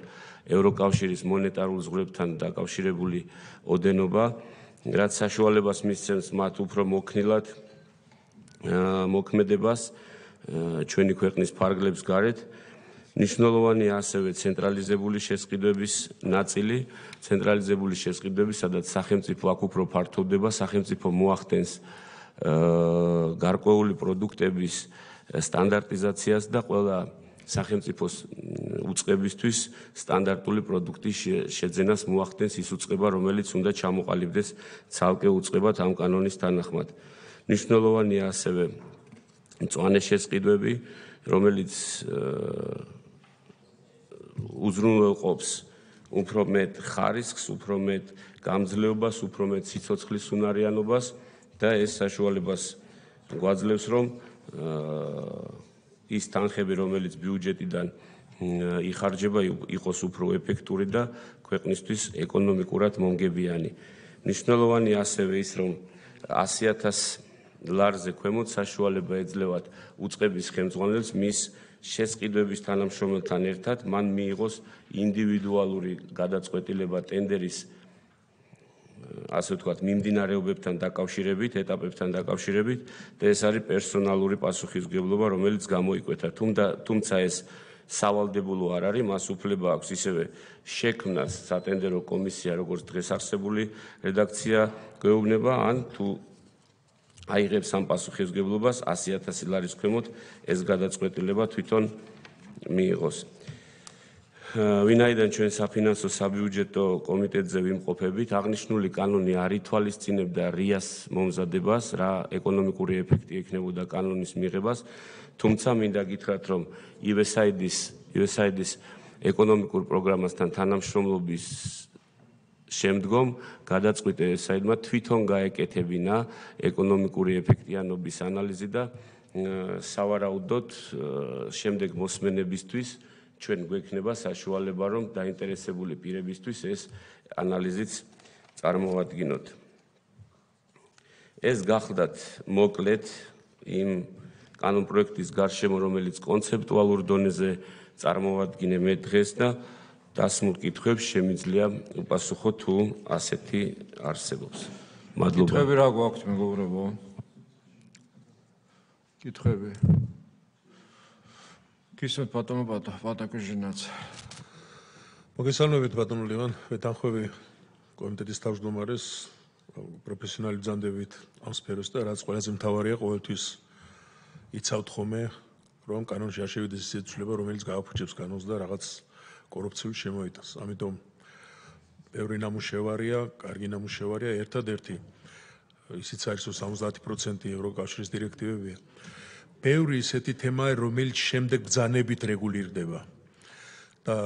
ევროკავშირის მონეტარულ ზღვრებთან დაკავშირებული ოდენობა, რაც საშუალებას მისცემს მათ უფრო მოქნილად მოქმედებას ჩვენი ქვეყნის ფარგლებს გარეთ. მნიშვნელოვანია ასევე ცენტრალიზებული შესყიდვების ნაწილი, ცენტრალიზებული შესყიდვები, სადაც სახელმწიფო აქ უფრო ფართოვდება, სახელმწიფო მოახდენს გარკვეული პროდუქტების სტანდარტიზაციას და ყველა სახელმწიფოს უწყებისთვის სტანდარტული პროდუქტის შეძენას მოახდენს ის უწყება, რომელიც უნდა ჩამოყალიბდეს ცალკე უწყებად ამ კანონის თანახმად. მნიშვნელოვანია ასევე მწვანე შესყიდვები, რომელიც უზრუნველყოფს უფრო მეტ ხარისხს, უფრო მეტ გამძლეობას, უფრო მეტ სიცოცხლის უნარიანობას და ეს საშუალებას გვაძლევს, რომ ის თანხები, რომელიც ბიუჯეტიდან იხარჯება, იყოს უფრო ეფექტური და ქვეყნისთვის ეკონომიკურად მომგებიანი. მნიშვნელოვანია ასევე ის, რომ 100,000 ლარზე ქვემოთ საშუალება ეძლევათ უწყების ხელმძღვანელს მის შესყიდვების თანამშრომელთან ერთად მან მიიღოს ინდივიდუალური გადაწყვეტილება ტენდერის ასე ვთქვათ მიმდინარეობებთან დაკავშირებით, ეტაპებთან დაკავშირებით და ეს არის პერსონალური პასუხისმგებლობა, რომელიც გამოიკვეთა. თუმცა ეს სავალდებულო არ არის, მას უფლება აქვს ისევე შექმნას სატენდერო კომისია, როგორც დღეს არსებული რედაქცია გვეუბნება, ან თუ აიღებს ამ პასუხისმგებლობას 100,000 ლარის ქვემოთ ეს გადაწყვეტილება თვითონ მიიღოს. ვინაიდან ჩვენ საფინანსო საბიუჯეტო კომიტეტზე ვიმყოფებით, აღნიშნული კანონი არ ითვალისწინებდა RIA-ს მომზადებას, რა ეკონომიკური ეფექტი ექნებოდა კანონის მიღებას, თუმცა მინდა გითხრათ, რომ USAID-ის ეკონომიკურ პროგრამასთან თანამშრომლობის შემდგომ გადაწყვიტა USAID-მა თვითონ გაეკეთებინა ეკონომიკური ეფექტიანობის ანალიზი და სავარაუდოდ შემდეგ მოსმენებისთვის ჩვენ გვექნება საშუალება, რომ დაინტერესებული პირებისთვის ეს ანალიზიც წარმოვადგინოთ. ეს გახლდათ მოკლედ იმ კანონპროექტის გარშემო, რომელიც კონცეპტუალურ დონეზე წარმოვადგინე მე დღეს და დასმულ კითხვებს შემიძლია უპასუხო თუ ასეთი არსებობს. მადლობა. კითხვები რა გვაქვთ მეგობრებო? კითხვები. გისმენთ ბატონო პატაკუჟინაც. მოგესალმებით ბატონო ლევან, ვეთანხმები კომიტეტის თავმჯდომარეს პროფესიონალი ბრძანდებით ამ სფეროს და რაც ყველაზე მთავარია ყოველთვის იცავთ ხოლმე, რომ კანონში არ შევიდეს ის ცვლილება, რომელიც გააფუჭებს კანონს და რაღაც კორუფციულ შემოიტანს. ამიტომ ბევრი ნამუშევარია, კარგი ნამუშევარია, ერთადერთი ისიც არის, რომ 70% ევროკავშირის დირექტივებია. ბევრი ისეთი თემაა, რომელიც შემდეგ ბრძანებით რეგულირდება. და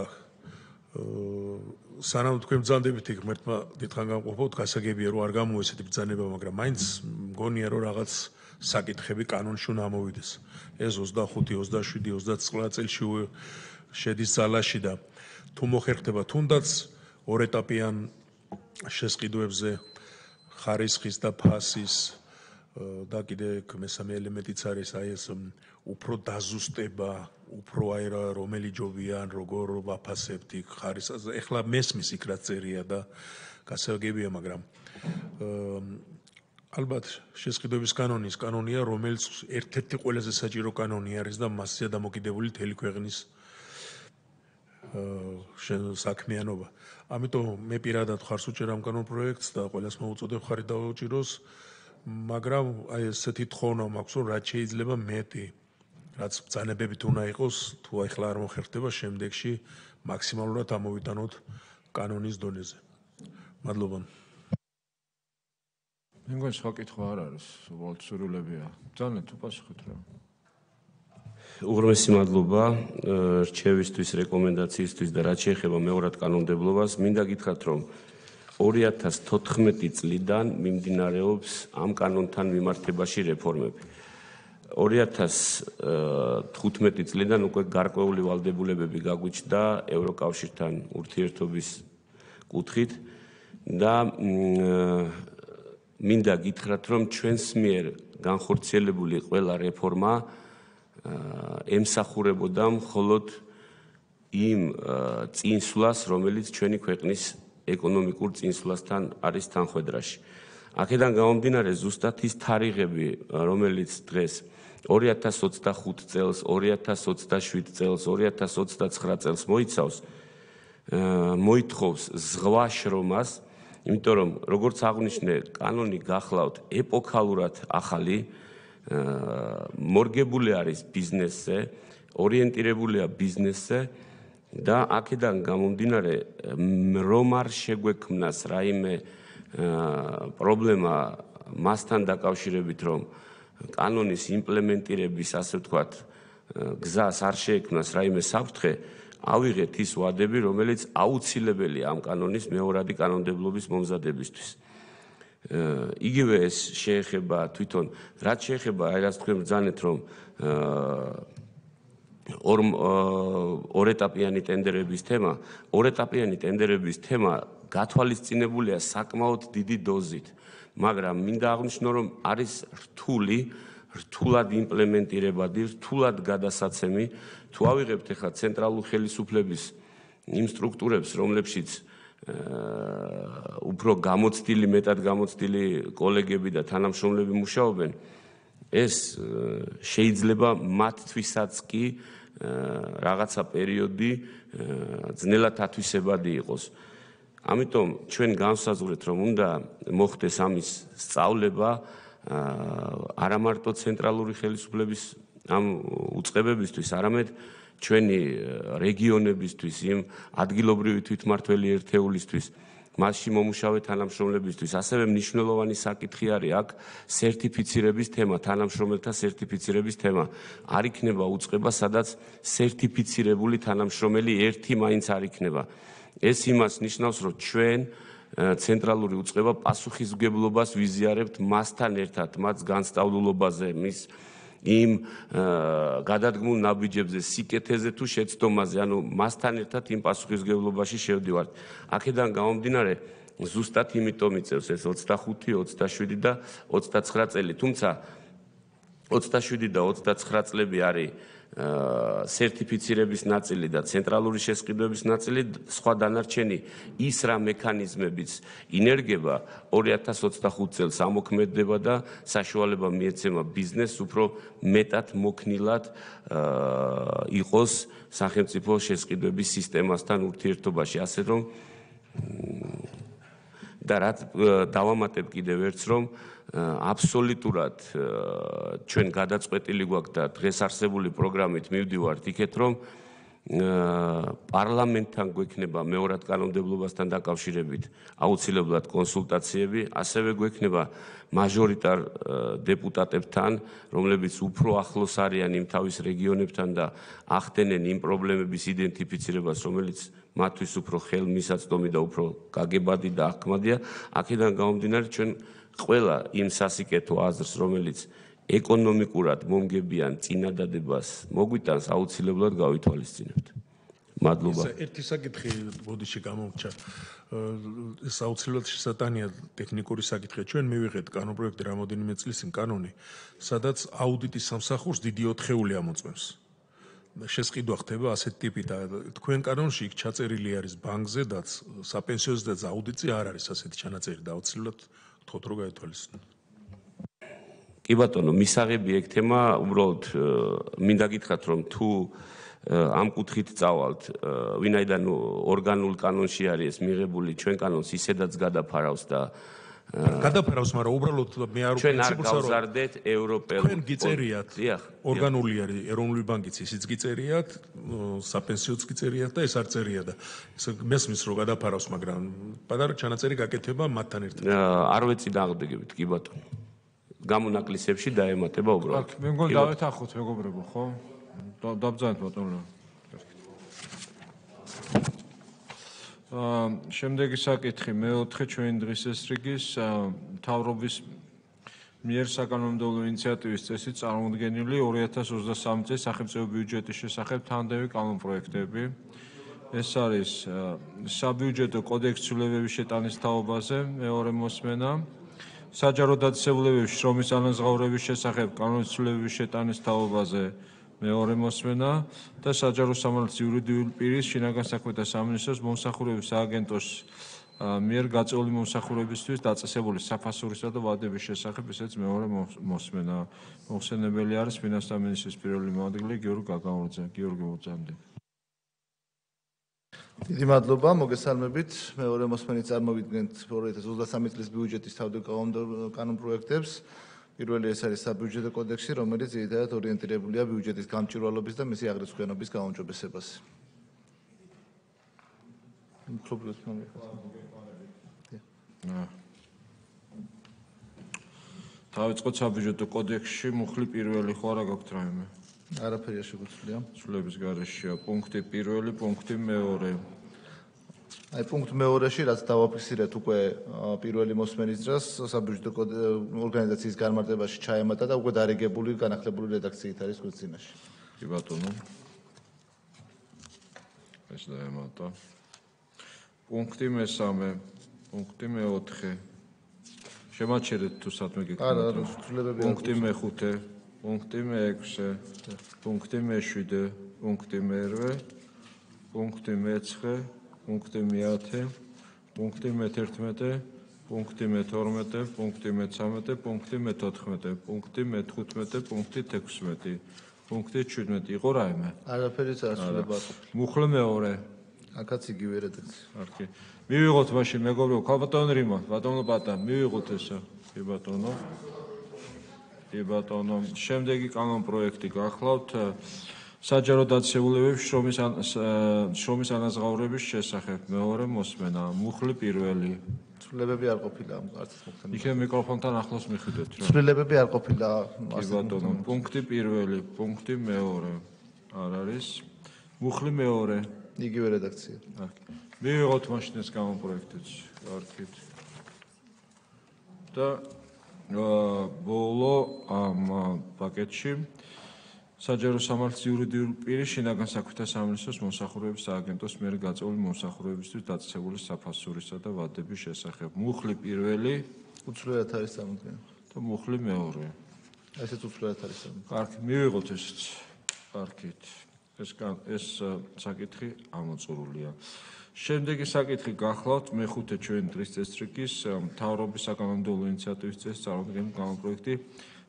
სანამ თქვენ ბრძანდებით იქ ღმერთმა დიდხან განყოფოთ, გასაგებია რომ არ გამოვა ესეთი ბრძანება, მაგრამ მაინც მგონია რომ რაღაც საკითხები კანონში უნდა ამოვიდეს. ეს 25, 27, 29 წელში შედის ძალაში და თუ მოხერხდება თუნდაც ორეტაპიან შესყიდვებზე ხარისხის და ფასის და კიდე მესამე ელემენტიც არის აი ეს უფრო დაზუსტება, უფრო აი რომელი ჯობია ან როგორ ვაფასებთ იქ ხარისხს. ეხლა მესმის იქ რაც წერია და გასაგებია, მაგრამ ალბათ შესყიდვების კანონია, რომელიც ერთ-ერთი ყველაზე საჭირო კანონი არის და მასზეა დამოკიდებული მთელი ქვეყნის საქმიანობა. ამიტომ მე პირადად ხარს უჭერ ამ კანონ პროექტს და ყველას მოუწოდებ ხარი დაუჭიროს. მაგრამ აი ესეთი თხოვნა მაქვს, რომ რაც შეიძლება მეტი, რაც ბრძანებებით უნდა იყოს, თუ ახლა არ მოხერხდება, შემდეგში მაქსიმალურად ამოვიტანოთ კანონის დონეზე. მადლობა. მეგონი სხვა კითხვა არ არის, უბრალოდ სურვილებია. ძალიან თუ პასუხით რა. უღრმესი მადლობა რჩევისთვის, რეკომენდაციისთვის და რაც შეეხება მეორად კანონმდებლობას, მინდა გითხრათ, რომ 2014 წლიდან მიმდინარეობს ამ კანონთან მიმართებაში რეფორმები. 2015 წლიდან უკვე გარკვეული ვალდებულებები გაგვიჩნდა ევროკავშირთან ურთიერთობის კუთხით და მინდა გითხრათ, რომ ჩვენს მიერ განხორციელებული ყველა რეფორმა ემსახურებოდა მხოლოდ იმ წინსვლას, რომელიც ჩვენი ქვეყნის ეკონომიკურ წინსვლასთან არის თანხვედრაში. აქედან გამომდინარე, ზუსტად ის თარიღები, რომელიც დღეს 2025 წელს, 2027 წელს, 2029 წელს მოიცავს, მოითხოვს ზღვა შრომას, იმიტომ რომ როგორც აღვნიშნე, კანონი გახლავთ ეპოქალურად ახალი, მორგებული არის ბიზნესზე, ორიენტირებულია ბიზნესზე და აქედან გამომდინარე, რომ არ შეგვექმნას რაიმე პრობლემა მასთან დაკავშირებით, რომ კანონის იმპლემენტირების, ასე ვთქვათ, გზას არ შეექმნას რაიმე საფრთხე, ავიღეთ ის ვადები, რომელიც აუცილებელია ამ კანონის მეორადი კანონმდებლობის მომზადებისთვის. იგივე ეს შეეხება თვითონ, რაც შეეხება, აი რაც თქვენ ბრძანეთ, რომ ორეტაპიანი ტენდერების თემა, ორეტაპიანი ტენდერების თემა გათვალისწინებულია საკმაოდ დიდი დოზით, მაგრამ მინდა აღვნიშნო, რომ არის რთულად იმპლემენტირებადი, რთულად გადასაცემი. თუ ავიღებთ ახლა ცენტრალურ ხელისუფლების იმ სტრუქტურებს, რომლებშიც უფრო გამოცდილი, მეტად გამოცდილი კოლეგები და თანამშრომლები მუშაობენ, ეს შეიძლება მათთვისაც კი რაღაცა პერიოდი ძნელად ათვისებადი იყოს. ამიტომ ჩვენ განვსაზღვრეთ, რომ უნდა მოხდეს ამის სწავლება არა მარტო ცენტრალური ხელისუფლების ამ უწყებებისთვის, არამედ ჩვენი რეგიონებისთვის, იმ ადგილობრივი თვითმმართველი ერთეულისთვის, მასში მომუშავე თანამშრომლებისთვის, ასევე მნიშვნელოვანი საკითხი არის აქ სერტიფიცირების თემა, თანამშრომელთა სერტიფიცირების თემა. არ იქნება უწყება, სადაც სერტიფიცირებული თანამშრომელი ერთი მაინც არ იქნება. ეს იმას ნიშნავს, რომ ჩვენ ცენტრალური უწყება პასუხისმგებლობას ვიზიარებთ მასთან ერთად, მას განსწავლულობაზე, მის იმ გადადგმულ ნაბიჯებზე, სიკეთეზე თუ შეცდომაზე, ანუ მასთან ერთად იმ პასუხისმგებლობაში შევდივართ. აქედან გამომდინარე, ზუსტად იმიტომ იწევს ეს 25, 27 და 29 წელი, თუმცა 27 და 29 წლები არის სერტიფიცირების ნაწილი და ცენტრალური შესყიდვების ნაწილი, სხვა დანარჩენი ის რა მექანიზმებიც ინერგება 2025 წელს ამოქმედდება და საშუალება მიეცემა ბიზნესს უფრო მეტად მოქნილად იყოს სახელმწიფო შესყიდვების სისტემასთან ურთიერთობაში, ასე რომ და რაც დავამატებ კიდევ ერთს, რომ აბსოლუტურად ჩვენ გადაწყვეტილი გვაქვს და დღეს არსებული პროგრამით მივდივართ იქეთ, რომ პარლამენტთან გვექნება მეორად კანონმდებლობასთან დაკავშირებით აუცილებლად კონსულტაციები, ასევე გვექნება მაჟორიტარ დეპუტატებთან, რომლებიც უფრო ახლოს არიან იმ თავის რეგიონებთან და ახდენენ იმ პრობლემების იდენტიფიცირებას, რომელიც მათთვის უფრო ხელმისაწვდომი და უფრო გაგებადი და აღქმადია. აქედან გამომდინარე, ჩვენ ყველა იმ სასიკეთო აზრს, რომელიც ეკონომიკურად მომგებიან წინადადებას მოგვიტანს, აუცილებლად გავითვალისწინებთ. მადლობა. ერთი საკითხი ბოდიში გამომრჩა. ეს აუცილებლად შესატანია ტექნიკური საკითხია. ჩვენ მივიღეთ კანონპროექტი რამოდენიმე წლის წინ კანონი, სადაც აუდიტის სამსახურს დიდი 4-ეული ამოწმებს. შესყიდვა ხდება ასეთ ტიპით და თქვენ კანონში იქ ჩაწერილი არის ბანკზე და საპენსიო და აუდიტი არ არის ასეთი ჩანაწერი და აუცილებლად თქოთ რომ გაითვალისწინოთ. კი ბატონო, მისაღები ეგ თემა, უბრალოდ მინდა გითხრათ, რომ თუ ამ კუთხით წავალთ, ვინაიდან ორგანულ კანონში არის ეს მიღებული, ჩვენ კანონს ისედაც გადაფარავს და გადაფარავს, მაგრამ უბრალოდ მე არ ჩვენ არ პრინციპულს არ გავზარდეთ ევროპელურ თქვენ გიწერიათ ორგანული არის ეროვნული ბანკიც ისიც გიწერიათ საპენსიოც გიწერიათ და ეს არ წერია და ეს მესმის რომ გადაფარავს, მაგრამ პატარა ჩანაწერი გაკეთება მათთან ერთად არ ვეცი დააღდგებით კი ბატონო გამონაკლისებში დაემატება უბრალოდ მე მგონი დავეთანხმოთ მეგობრებო ხო დაბრძანეთ ბატონო შემდეგი საკითხი მე-4 ჩვენი დღის ეს რიგის მთავრობის მიერ საკანონმდებლო ინიციატივის წესით წარმოდგენილი 2023 წლის სახელმწიფო ბიუჯეტის შესახებ თანმდევი კანონპროექტები. ეს არის საბიუჯეტო კოდექსის ცვლილებების შეტანის თაობაზე მეორე მოსმენა, საჯარო დაწესებულებების შრომის ანაზღაურების შესახებ კანონის ცვლილებების შეტანის თაობაზე მეორე მოსმენა და საჯარო სამართლის იურიდიული პირის შინაგან საქმეთა სამინისტროს მომსახურების სააგენტოს მიერ გაწეული მომსახურებისთვის დაწესებული საფასურისა და ვადების შესახებ ესეც მეორე მოსმენა. მოხსენებელი არის ფინანსთა მინისტრის პირველი მოადგილე გიორგი გაგაურიძე. გიორგი მოწამდი. დიდი მადლობა, მოგესალმებით. მეორე მოსმენით წარმოვიდგენთ 2023 წლის ბიუჯეტის თავდაკავებულ კანონპროექტებს. პირველი ეს არის საბიუჯეტო კოდექსი, რომელიც ძირითადად ორიენტირებულია ბიუჯეტის გამჭვირვალობის და მისი აღრიცხვიანობის გაუმჯობესებაზე. დავიწყოთ საბიუჯეტო კოდექსში მუხლი პირველი ხო არა გაქვთ რაიმე? არაფერია შეგვიძლია. ცვლილების გარეშეა პუნქტი პირველი, პუნქტი მეორე. აი პუნქტ მეორეში რაც დავაფიქსირეთ უკვე პირველი მოსმენის დროს საბიუჯეტო ორგანიზაციის განმარტებაში ჩაემატა და უკვე დარიგებული განახლებული რედაქციით არის გვერდცინაში. კი ბატონო. ეს დაემატა. პუნქტი მესამე, პუნქტი მე-4. შემაჩერეთ თუ სათმე გეკეთეთ. არა, ცვლილებები პუნქტი მე-5, პუნქტი მე-6, პუნქტი მე-7, პუნქტი მე-8, პუნქტი მე-9, პუნქტი მე-10, პუნქტი მე-11, პუნქტი მე-12, პუნქტი მე-13, პუნქტი მე-14, პუნქტი მე-15, პუნქტი 16, პუნქტი 17. იყო რაიმე? არაფერიც არ ცვლილება. მუხლი მეორე. აქაც იგივე რედაქცია. კარგი. მივიღოთ მაშინ მეგობრებო, ბატონო რიმა, ბატონო პატა, მივიღოთ ესა. კი ბატონო. კი ბატონო. შემდეგი კანონპროექტი გახლავთ საჯარო დაწესებულებების შრომის ანაზღაურების შესახებ მეორე მოსმენა. მუხლი პირველი. ცვლილებები არ ყოფილა ამ კარტის მოხდენა. იქნებ მიკროფონთან ახლოს მიხვიდეთ რა. ცვლილებები არ ყოფილა. კი ბატონო, პუნქტი პირველი, პუნქტი მეორე. არ არის. მუხლი მეორე. იგივე რედაქცია. კარგი. მივიღოთ მაშინ ეს კანონპროექტიც. კარგით. და ბოლო ამ პაკეტში საჯარო სამართლის იურიდიული პირის შინაგან საქმეთა სამინისტროს მომსახურების სააგენტოს მიერ გაწეული მომსახურებისთვის დაწესებული საფასურისა და ვადების შესახებ. მუხლი პირველი, უცვლელად არის წარმოდგენილი. და მუხლი მეორე. ესეც უცვლელად არის წარმოდგენილი. კარგი, მივიღოთ ესეც. კარგით. ეს საკითხი ამოწურულია. შემდეგი საკითხი გახლავთ მე-5 ჩვენი დღის წესრიგის მთავრობის საკანონმდებლო ინიციატივის წესით წარმოდგენილი კანონპროექტი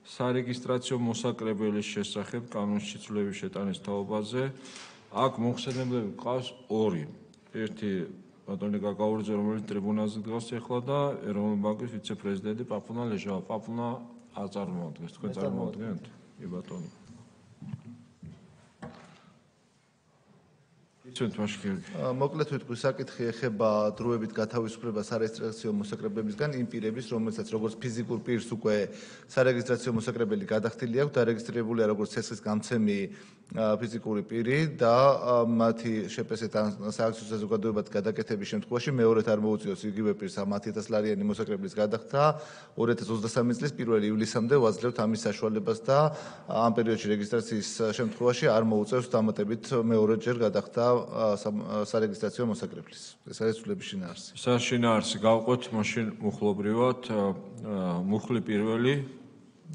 სარეგისტრაციო მოსაკრებელის შესახებ კანონში ცვლილების შეტანის თაობაზე. აქ მოხსენებლები ყავს ორი. ერთი ბატონი გაგაურიძე, რომელიც ტრიბუნაზე დგას ახლა და ეროვნული ბანკის ვიცე-პრეზიდენტი პაპუნა ლეჟავა. პაპუნა არ წარმოადგენს, თქვენ წარმოადგენთ? კი ბატონო. მოკლედ ვიტყვი, საკითხი ეხება დროებით გათავისუფლებას სარეგისტრაციო მოსაკრებელებისგან იმ პირების, რომელსაც როგორც ფიზიკურ პირს უკვე სარეგისტრაციო მოსაკრებელი გადახდილი აქვს, დარეგისტრირებულია როგორც ცესხის გამცემი ფიზიკური პირი და მათი შეფასებით სააქციო საზოგადოებად გადაკეთების შემთხვევაში მეორედ არ მოუწიოს იგივე პირს 10,000 ლარიანი მოსაკრებლის გადახდა 2023 წლის 1 ივლისამდე ვაძლევთ ამის საშუალებას და ამ პერიოდში რეგისტრაციის შემთხვევაში არ მოუწევს დამატებით მეორეჯერ გადახდა სარეგისტრაციო მოსაკრებლის. ეს არის ცვლილების შინაარსი. საშინაარსი გავყვეთ მაშინ მუხლობრივად მუხლი პირველი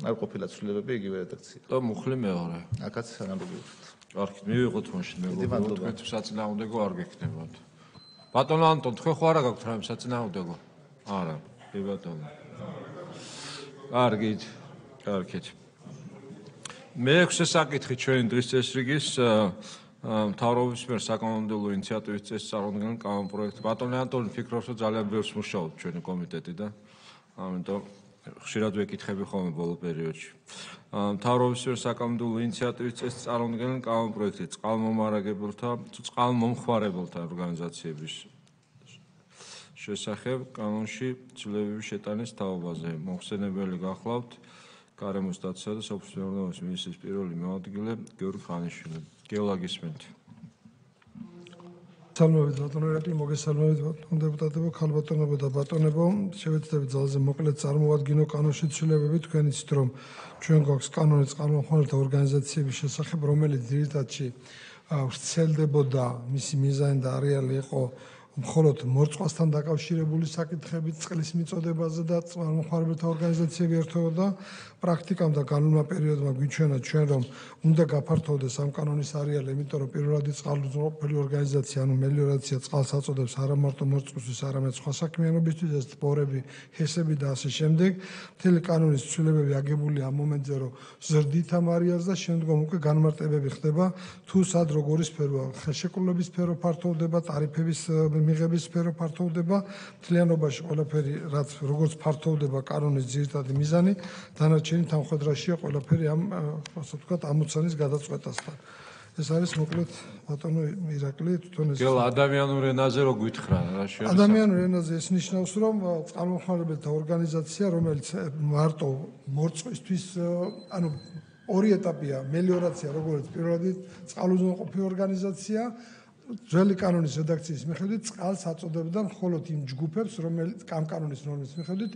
არ ყოფილა ცვლილებები იგივე რედაქცია. და მუხლი მეორე. აქაც ანალოგიურად. კარგი, მივიღოთ მაშინ მეგობრებო, თქვენ საწინააღმდეგო არ გექნებათ. ბატონო ანტონ, თქვენ ხო არა გაქვთ რაიმე საწინააღმდეგო? არა, კი ბატონო. კარგით, კარგით. მე-6 საკითხი ჩვენი დღის წესრიგის მთავრობის მიერ საკანონმდებლო ინიციატივის წესით წარმოდგენილ კანონპროექტს. ბატონო ანტონი, ფიქრობს, რომ ძალიან ბევრს მუშაობთ ჩვენი კომიტეტი და ამიტომ ხშირად ვეკითხები ხოლმე ბოლო პერიოდში. მთავრობის მიერ საკანონმდებლო ინიციატივის წესს წარმოადგენენ კანონპროექტი წყალმომარაგებელთა თუ წყალმომხმარებელთა ორგანიზაციების შესახებ კანონში ცვლილებების შეტანის თაობაზე. მოხსენებელი გახლავთ გარემოს დაცვისა და სოფლის მეურნეობის მინისტრის პირველი მოადგილე გიორგი ხანიშვილი. გელა გისმენთ. სალმებით ბატონო ირაკლი, მოგესალმებით ბატონო დეპუტატებო, ქალბატონებო და ბატონებო. შევეცდებით ძალზე მოკლედ წარმოვადგინო კანონში ცვლილებები. თქვენ იცით, რომ ჩვენ გვაქვს კანონი წყალმომხმარებელთა ორგანიზაციების შესახებ, რომელიც ძირითადში ვრცელდებოდა, მისი მიზანი და არეალი იყო მხოლოდ მორწყვასთან დაკავშირებული საკითხებით წყლის მიწოდებაზე და წყალმომხმარებელთა ორგანიზაციები ერთვოდა. პრაქტიკამ და განვლილმა პერიოდმა გვიჩვენა ჩვენ, რომ უნდა გაფართოვდეს ამ კანონის არეალი, იმიტომ რომ პირველადი წყალმომხმარებელი ორგანიზაცია, ანუ მელიორაცია წყალს აწოდებს არა მარტო მორწყვისთვის, არამედ სხვა საქმიანობისთვის, ეს ტბორები, ჰესები და ასე შემდეგ. მთელი კანონის ცვლილებები აგებულია ამ მომენტზე, რომ ზრდით ამ არეალს და შემდგომ უკვე განმარტებები ხდება, თუ სად როგორი სფეროა, ხელშეკრულების სფერო ფართოვდება, ტარიფების მიღების სფერო ფართოვდება, მთლიანობაში ყველაფერი, რაც როგორც ფართოვდება კანონის ძირითადი მიზანი, დანარჩენი თანხმდრაშია ყველაფერი ამ, ასე ვთქვათ, ამოცანის გადაწყვეტასთან. ეს არის მოკლედ ბატონო ირაკლი, თვითონ ეს ადამიანურ ენაზე რო გითხრა რა შეიძლება. ადამიანურ ენაზე ეს ნიშნავს, რომ წყალმომხმარებელთა ორგანიზაცია, რომელიც მარტო მორწყვისთვის, ანუ ორი ეტაპია, მელიორაცია, როგორც პირველადი წყალუზრუნველყოფი ორგანიზაცია, ძველი კანონის რედაქციის მიხედვით წყალს აწოდებდა მხოლოდ იმ ჯგუფებს, რომელიც ამ კანონის ნორმის მიხედვით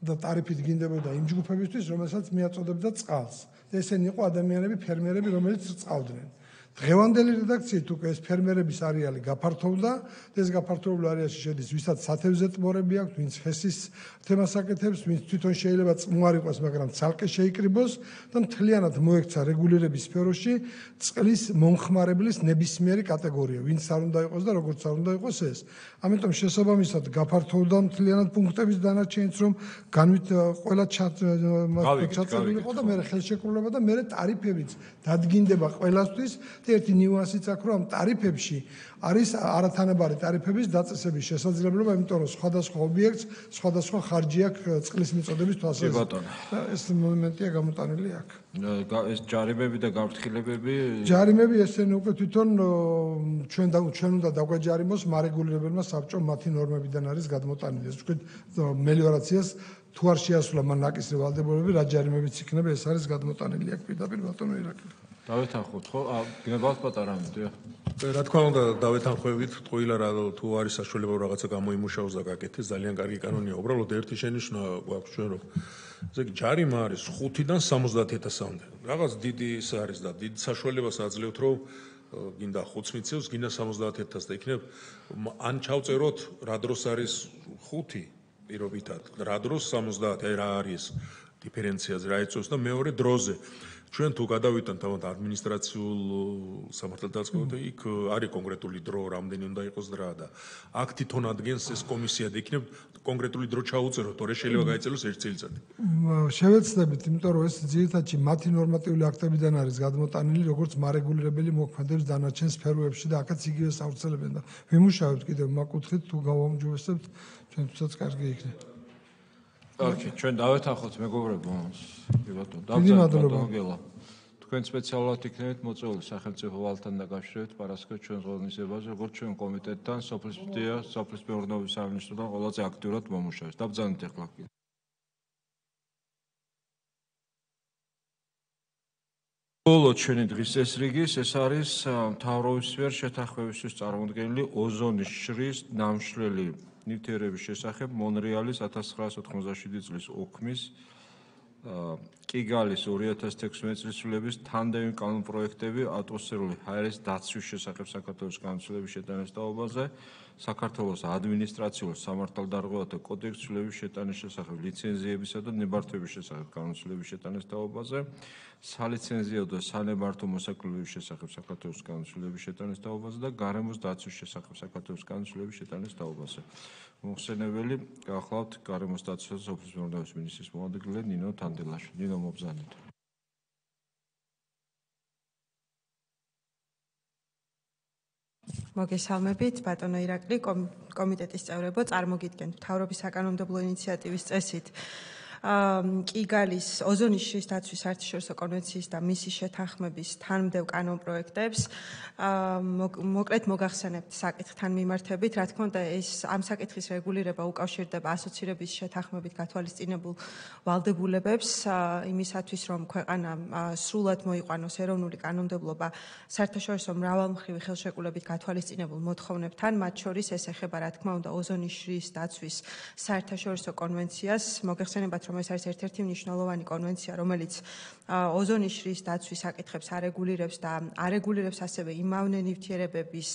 და ტარიფით გინდებოდა იმ ჯგუფებისთვის, რომელსაც მიაწოდებდა წყალს. ესენი იყო ადამიანები, ფერმერები, რომელიც წყავდნენ. დღევანდელი რედაქციით უკვე ეს ფერმერების არეალი გაფართოვდა და ეს გაფართოებული არეალში შედის, ვისაც სათევზე ტბორები აქვს, ვინც ჰესის თემას აკეთებს, ვინც თვითონ შეიძლება წყმუარ იყოს, მაგრამ ცალკე შეიკრიბოს და მთლიანად მოექცა რეგულირების სფეროში წყლის მომხმარებლის ნებისმიერი კატეგორია, ვინც არ უნდა იყოს და როგორც არ უნდა იყოს ეს. ამიტომ შესაბამისად გაფართოვდა მთლიანად პუნქტების დანარჩენიც, რომ ყველა ჩაწერილი იყო და მე ხელშეკრულება და მე ტარიფებიც დადგინდება ყველასთვის. ერთი ნიუანსიც აქვს, რომ ამ ტარიფებში არის არათანაბარი ტარიფების დაწესების შესაძლებლობა, იმიტომ რომ სხვადასხვა ობიექტს სხვადასხვა ხარჯი აქვს წყლის მიწოდების თვალსაზრისით. ეს მომენტია გამოტანილი აქ. ეს ჯარიმები და გაფრთხილებები ჯარიმები ესენი უკვე თვითონ ჩვენ უნდა დაგვაჯარიმოს მარეგულირებელმა საბჭომ მათი ნორმებიდან არის გადმოტანილი. ეს ვთქვით მელიორაციას თუ არ შეასრულა მან ნაკისრი ვალდებულებები, რა ჯარიმებიც იქნება, ეს არის გადმოტანილი აქ პირდაპირ ბატონო ირაკლი. დავეთანხმოთ ხო? გნებავთ პატარა მიდია. რა თქმა უნდა დავეთანხმებით, ტყუილა რა თუ არის საშუალება რაღაცა გამოიმუშაოს და გაკეთდეს, ძალიან კარგი კანონია. უბრალოდ ერთი შენიშვნა გვაქვს ჩვენ, რომ ესე იგი ჯარიმა არის 5-დან 70,000-მდე. რაღაც დიდი ის არის და დიდ საშუალებას აძლევთ, რომ გინდა 5 მიცევს, გინდა 70,000 და იქნებ ან ჩავწეროთ რა დროს არის 5 პირობითად, რა დროს 70, აი რა არის დიფერენციაზე რა იწევს და მეორე დროზე. ჩვენ თუ გადავიტანთ თავად ადმინისტრაციულ სამართალდაწყებამდე, იქ არის კონკრეტული დრო, რამდენი უნდა იყოს დრა და აქ თვითონ ადგენს ეს კომისია და იქნებ კონკრეტული დრო ჩაუწეროთ, თორე შეიძლება გაიწელოს 1 წელიწადი. შევეცდებით, იმიტომ რომ ეს ძირითადში მათი ნორმატიული აქტებიდან არის გადმოტანილი, როგორც მარეგულირებელი მოქმედებს დანარჩენ სფეროებში და აქაც იგივე სავრცელებენ და ვიმუშავებთ კიდევ მაკუთხით თუ გავამჯობესებთ, ჩვენთვისაც კარგი იქნება. ოკეი, ჩვენ დავეთანხმოთ მეგობრებო. ბატონო, თქვენ სპეციალურად იქნებით მოწვეული სახელმწიფო ვალთან დაკავშირებით პარასკევს ჩვენს ღონისძიებაზე, როგორც ჩვენ კომიტეტთან, სოფლის მეურნეობის სამინისტროდან ყველაზე აქტიურად მომუშავეს. დაბრძანეთ ახლა. ბოლო ჩვენი დღის წესრიგის ეს არის მთავრობის მიერ შეთანხმებისთვის წარმოდგენილი ოზონის შრის ნამშრალი ნივთიერების შესახებ მონრეალის 1997 წლის ოქმის კიგალის 2016 წლის ცვლილების თანდემი კანონპროექტები ატმოსფერული ჰაერის დაცვის შესახებ საქართველოს კანონმდებლობის შეტანის თაობაზე, საქართველოს ადმინისტრაციულ სამართალდარღვევათა კოდექსის ცვლილების შეტანის შესახებ, ლიცენზიებისა და ნებართვების შესახებ კანონმდებლობის შეტანის თაობაზე, სალიცენზიო და სანებართვო მოსაკლების შესახებ საქართველოს კანონმდებლობის შეტანის თაობაზე და გარემოს დაცვის შესახებ საქართველოს კანონმდებლობის შეტანის თაობაზე. მოხსენებელი გახლავთ გარემოს დაცვის და სოფლის მეურნეობის მინისტრის მოადგილე ნინო თანდელაშვილი. ნინო მობრძანეთ. მოგესალმებით, ბატონო ირაკლი, კომიტეტის წევრებო, წარმოგიდგენთ მთავრობის საკანონმდებლო ინიციატივის წესით კიგალის ოზონის შრის დაცვის საერთაშორისო კონვენციის და მისი შეთანხმების თანმდევ კანონპროექტებს. მოკლედ მოგახსენებთ საკითხთან მიმართებით, რა თქმა უნდა, ეს ამ საკითხის რეგულირება უკავშირდება ასოცირების შეთანხმებით გათვალისწინებულ ვალდებულებებს იმისათვის, რომ ქვეყანა სრულად მოიყვანოს ეროვნული კანონმდებლობა საერთაშორისო მრავალმხრივი ხელშეკრულებით გათვალისწინებულ მოთხოვნებთან, მათ შორის ეს ეხება, რა თქმა უნდა, ოზონის შრის დაცვის საერთაშორისო კონვენციას. მოგეხსენებათ, რომ ეს არის ერთ-ერთი მნიშვნელოვანი კონვენცია, რომელიც ოზონის შრის დაცვის საკითხებს არეგულირებს და არეგულირებს ასევე იმავნე ნივთიერებების,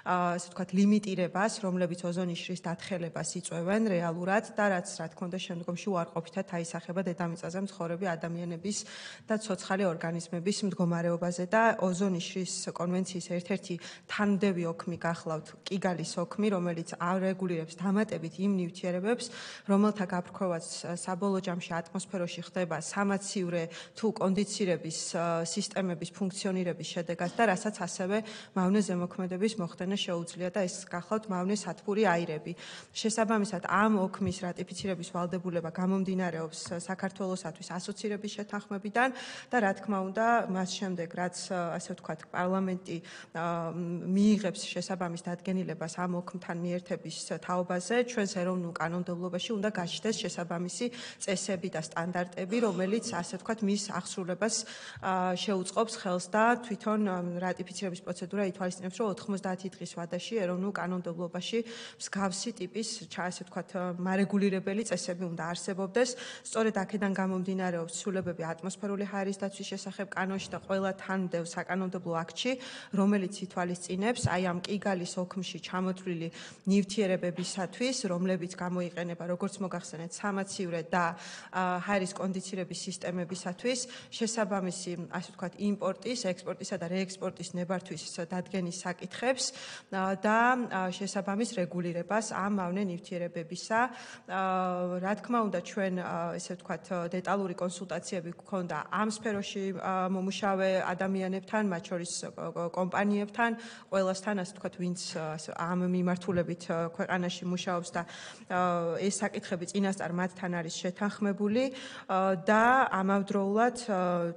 ასე ვთქვათ, ლიმიტირებას, რომლებიც ოზონის შრის დათხელებას იწვევენ რეალურად და რაც, რა თქმა უნდა, შემდგომში უარყოფითად აისახება დედამიწაზე მცხოვრები ადამიანების და ცოცხალი ორგანიზმების მდგომარეობაზე და ოზონის შრის კონვენციის ერთ-ერთი თანმდევი ოქმი გახლავთ კიგალის ოქმი, რომელიც არეგულირებს დამატებით იმ ნივთიერებებს, რომელთა გაფრქვევაც საბოლოო ჯამში ატმოსფეროში ხდება სამაცივრე თუ კონდიცირების სისტემების ფუნქციონირების შედეგად და რასაც ასევე მავნე ზემოქმედების მოხდენა შეუძლია და ეს გახლავთ მავნე სათბური აირები. შესაბამისად, ამ ოქმის რატიფიცირების ვალდებულება გამომდინარეობს საქართველოსათვის ასოცირების შეთანხმებიდან და რა თქმა უნდა, მას შემდეგ, რაც ასე ვთქვათ, პარლამენტი მიიღებს შესაბამის დადგენილებას ამ ოქმთან მიერთების თაობაზე, ჩვენს ეროვნულ კანონმდებლობაში უნდა გაჩნდეს შესაბამისი წესები და სტანდარტები, რომელიც ასე ვთქვათ, მის აღსრულებას შეუწყობს ხელს და თვითონ რატიფიცირების პროცედურა ითვალისწინებს, რომ 90 დღის ვადაში ეროვნულ კანონმდებლობაში მსგავსი ტიპის, ასე ვთქვათ, მარეგულირებელი წესები უნდა არსებობდეს. სწორედ აქედან გამომდინარეობს ცვლილებები ატმოსფერული ჰაერის დაცვის შესახებ კანონში და ყველა თანმდევ საკანონმდებლო აქტში, რომელიც ითვალისწინებს აი ამ კიგალის ოქმში ჩამოთვლილი ნივთიერებებისათვის, რომლებიც გამოიყენება, როგორც მოგახსენეთ, სამაცივრე და ჰაერის კონდიცირების სისტემებისათვის, შესაბამისი, ასე ვთქვათ, იმპორტის, ექსპორტისა და რეექსპორტის ნებართვის დადგენის საკითხებს და შესაბამის რეგულირებას ამ მავნე ნივთიერებებისა. რა თქმა უნდა, ჩვენ, ესე ვთქვათ, დეტალური კონსულტაციები გვქონდა ამ სფეროში მომუშავე ადამიანებთან, მათ შორის კომპანიებთან, ყველასთან, ასე ვთქვათ, ვინც ამ მიმართულებით ქვეყანაში მუშაობს და ეს საკითხები წინასწარ მათთან არის შეთანხმებული და ამავდროულად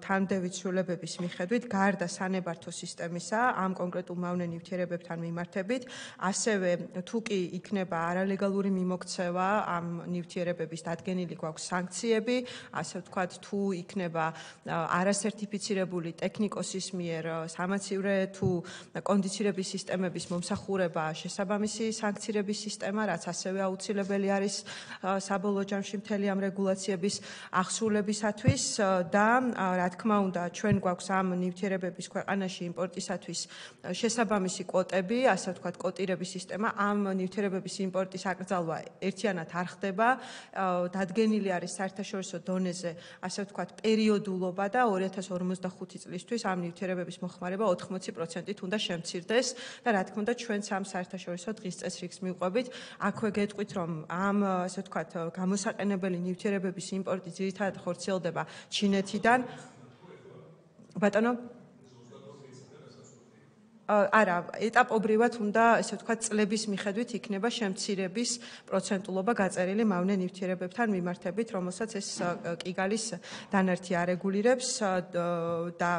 თანმდევი ცვლილებების მიხედვით გარდა სანებართო სისტემისა ამ კონკრეტულ მავნე ნივთიერებებთან მიმართებით, ასევე თუ კი იქნება არალეგალური მიმოქცევა ამ ნივთიერებების დადგენილი გვაქვს სანქციები, ასე ვთქვათ, თუ იქნება არასერტიფიცირებული ტექნიკოსის მიერ სამაცივრე თუ კონდიცირების სისტემების მომსახურება, შესაბამისი სანქცირების სისტემა, რაც ასევე აუცილებელი არის საბოლოო ჯამში მთელი ამ რეგულაციების აღსრულებისათვის და რა თქმა უნდა, ჩვენ გვაქვს ამ ნივთიერებების ქვეყანაში იმპორტისათვის შესაბამისი კვოტები, ასე ვთქვათ, კვოტირების სისტემა. ამ ნივთიერებების იმპორტის აკრძალვა ერთიანად არ ხდება, დადგენილი არის საერთაშორისო დონეზე, ასე ვთქვათ, პერიოდულობა და 2055 წლისთვის ამ ნივთიერებების მოხმარება 80%-ით უნდა შემცირდეს და რა თქმა უნდა, ჩვენც ამ საერთაშორისო დღის წესრიგს მივყვებით, აქვე გეტყვით, რომ ამ, ასე ვთქვათ, გამოსაყენებელი ნივთიერებების იმპორტი ძირითადად ხორციელდება ჩინეთიდან. ბატონო არა, ეტაპობრივად უნდა, ესე ვთქვათ, წლების მიხედვით იქნება შემცირების პროცენტულობა გაწერილი მავნე ნივთიერებებთან მიმართებით, რომელსაც ეს კიგალის დანართი არეგულირებს და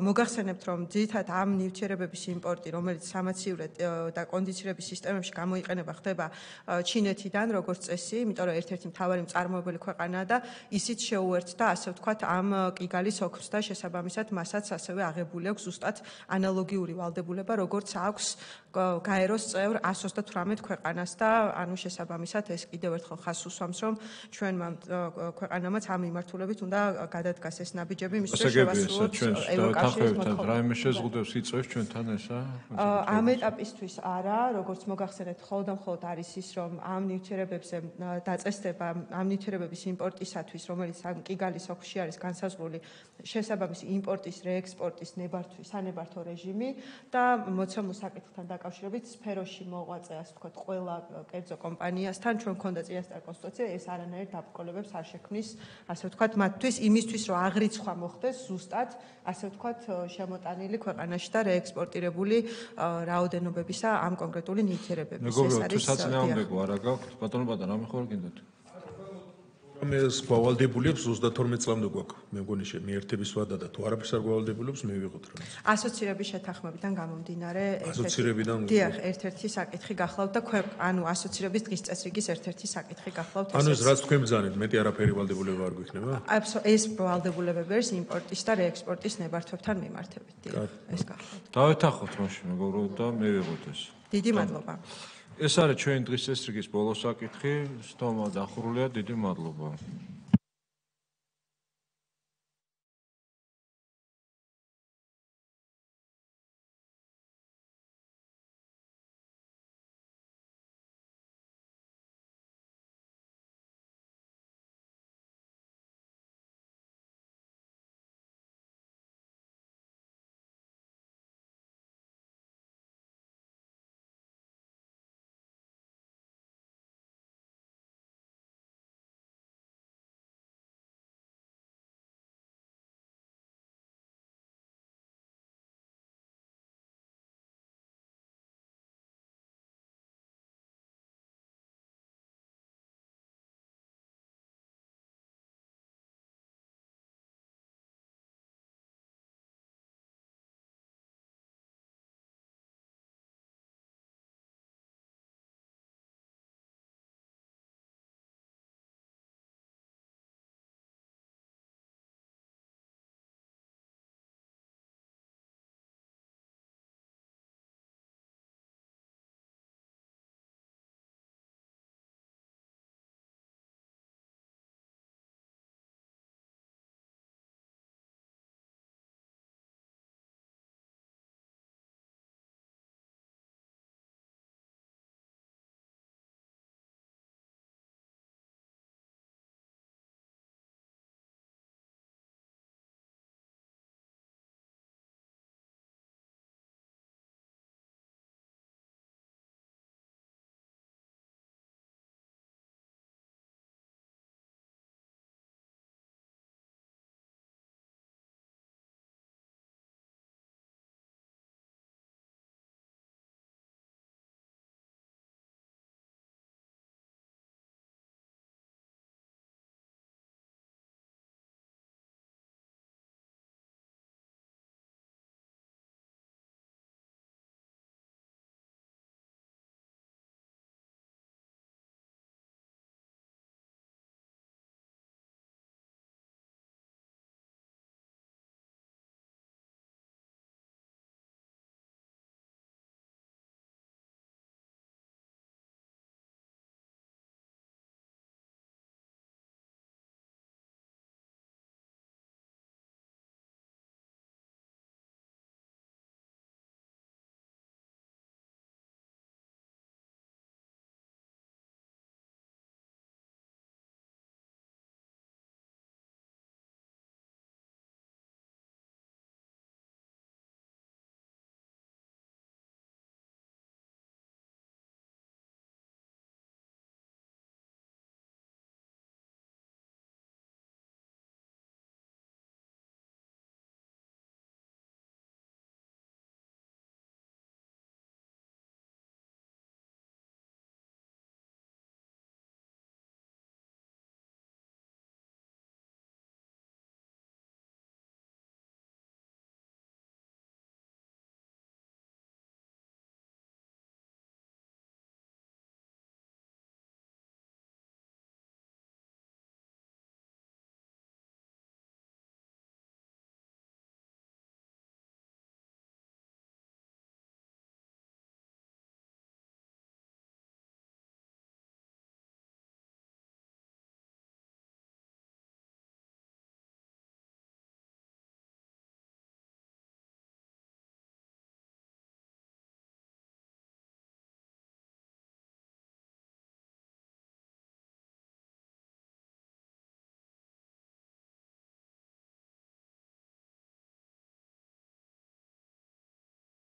მოგახსენებთ, რომ ძირითადად ამ ნივთიერებების იმპორტი, რომელიც სამაცივრე და კონდიცირების სისტემებში გამოიყენება, ხდება ჩინეთიდან, როგორც წესი, იმიტომ რომ ერთ-ერთი მთავარი მწარმოებელი ქვეყანაა და ისიც შეუერთდა, ასე ვთქვათ, ამ კიგალის ოქმს და შესაბამისად მასაც ასევე აღებული აქვს ზუსტად ანალოგიური ვალდებულება, როგორც აქვს გაეროს წევრ 128 ქვეყანას და ანუ შესაბამისად ეს კიდევ ერთხელ ხაზს უსვამს, რომ ჩვენმა ქვეყანამაც ამ მიმართულებით უნდა გადადგას ეს ნაბიჯები, მისთვის შევასრულოთ ევროკავშირის მოთხოვნები. რაიმე შეზღუდვებს იწევს ჩვენთან ესა? ამ ეტაპისთვის არა, როგორც მოგახსენეთ, მხოლოდ არის ის, რომ ამ ნივთიერებებზე დაწესდება ამ ნივთიერებების იმპორტისათვის, რომელიც ამ კიგალის ოქმში არის განსაზღვრული შესაბამისი იმპორტის, რეექსპორტის, ნებართვის, სანებართო რეჟიმი და მოცემულ საკითხთან დაკავშირებით სფეროში მოღვაწე, ასე ვთქვათ, ყველა კერძო კომპანიასთან ჩვენ გვქონდა წინასწარ კონსტრუქცია, ეს არანაირ დაბრკოლებებს არ შექმნის, ასე ვთქვათ, მათთვის იმისთვის, რომ აღრიცხვა მოხდეს ზუსტად, ასე ვთქვათ, შემოტანილი ქვეყანაში და რეექსპორტირებული რაოდენობებისა ამ კონკრეტული ნივთიერებების. მეგობრებო, თუ საწინააღმდეგო არა გაქვთ, ბატონო ბატონო, რამე ხوار გინდათ? ეს გავალდებულებს 32 წლამდე გვაქვს. მე მგონი მიერთების ვადა და თუ არაფერს არ გავალდებულებს მე ვიღოთ რა. ასოცირების შეთანხმებიდან გამომდინარე ერთ-ერთი საკითხი გახლავთ და ანუ ასოცირების დღის წესრიგის ერთ-ერთი საკითხი გახლავთ. ანუ ეს რაც თქვენ ბრძანეთ, მეტი არაფერი ვალდებულება არ გვიქნება? ეს ვალდებულებები არის იმპორტის და რეექსპორტის ნებართვებთან მიმართებით. ეს გახლავთ. დავეთანხმოთ მაშინ მეგობრებო და მე ვიღოთ ეს. დიდი მადლობა. ეს არის ჩვენი დღის წესრიგის ბოლო საკითხი. სტომა დახურულია. დიდი მადლობა.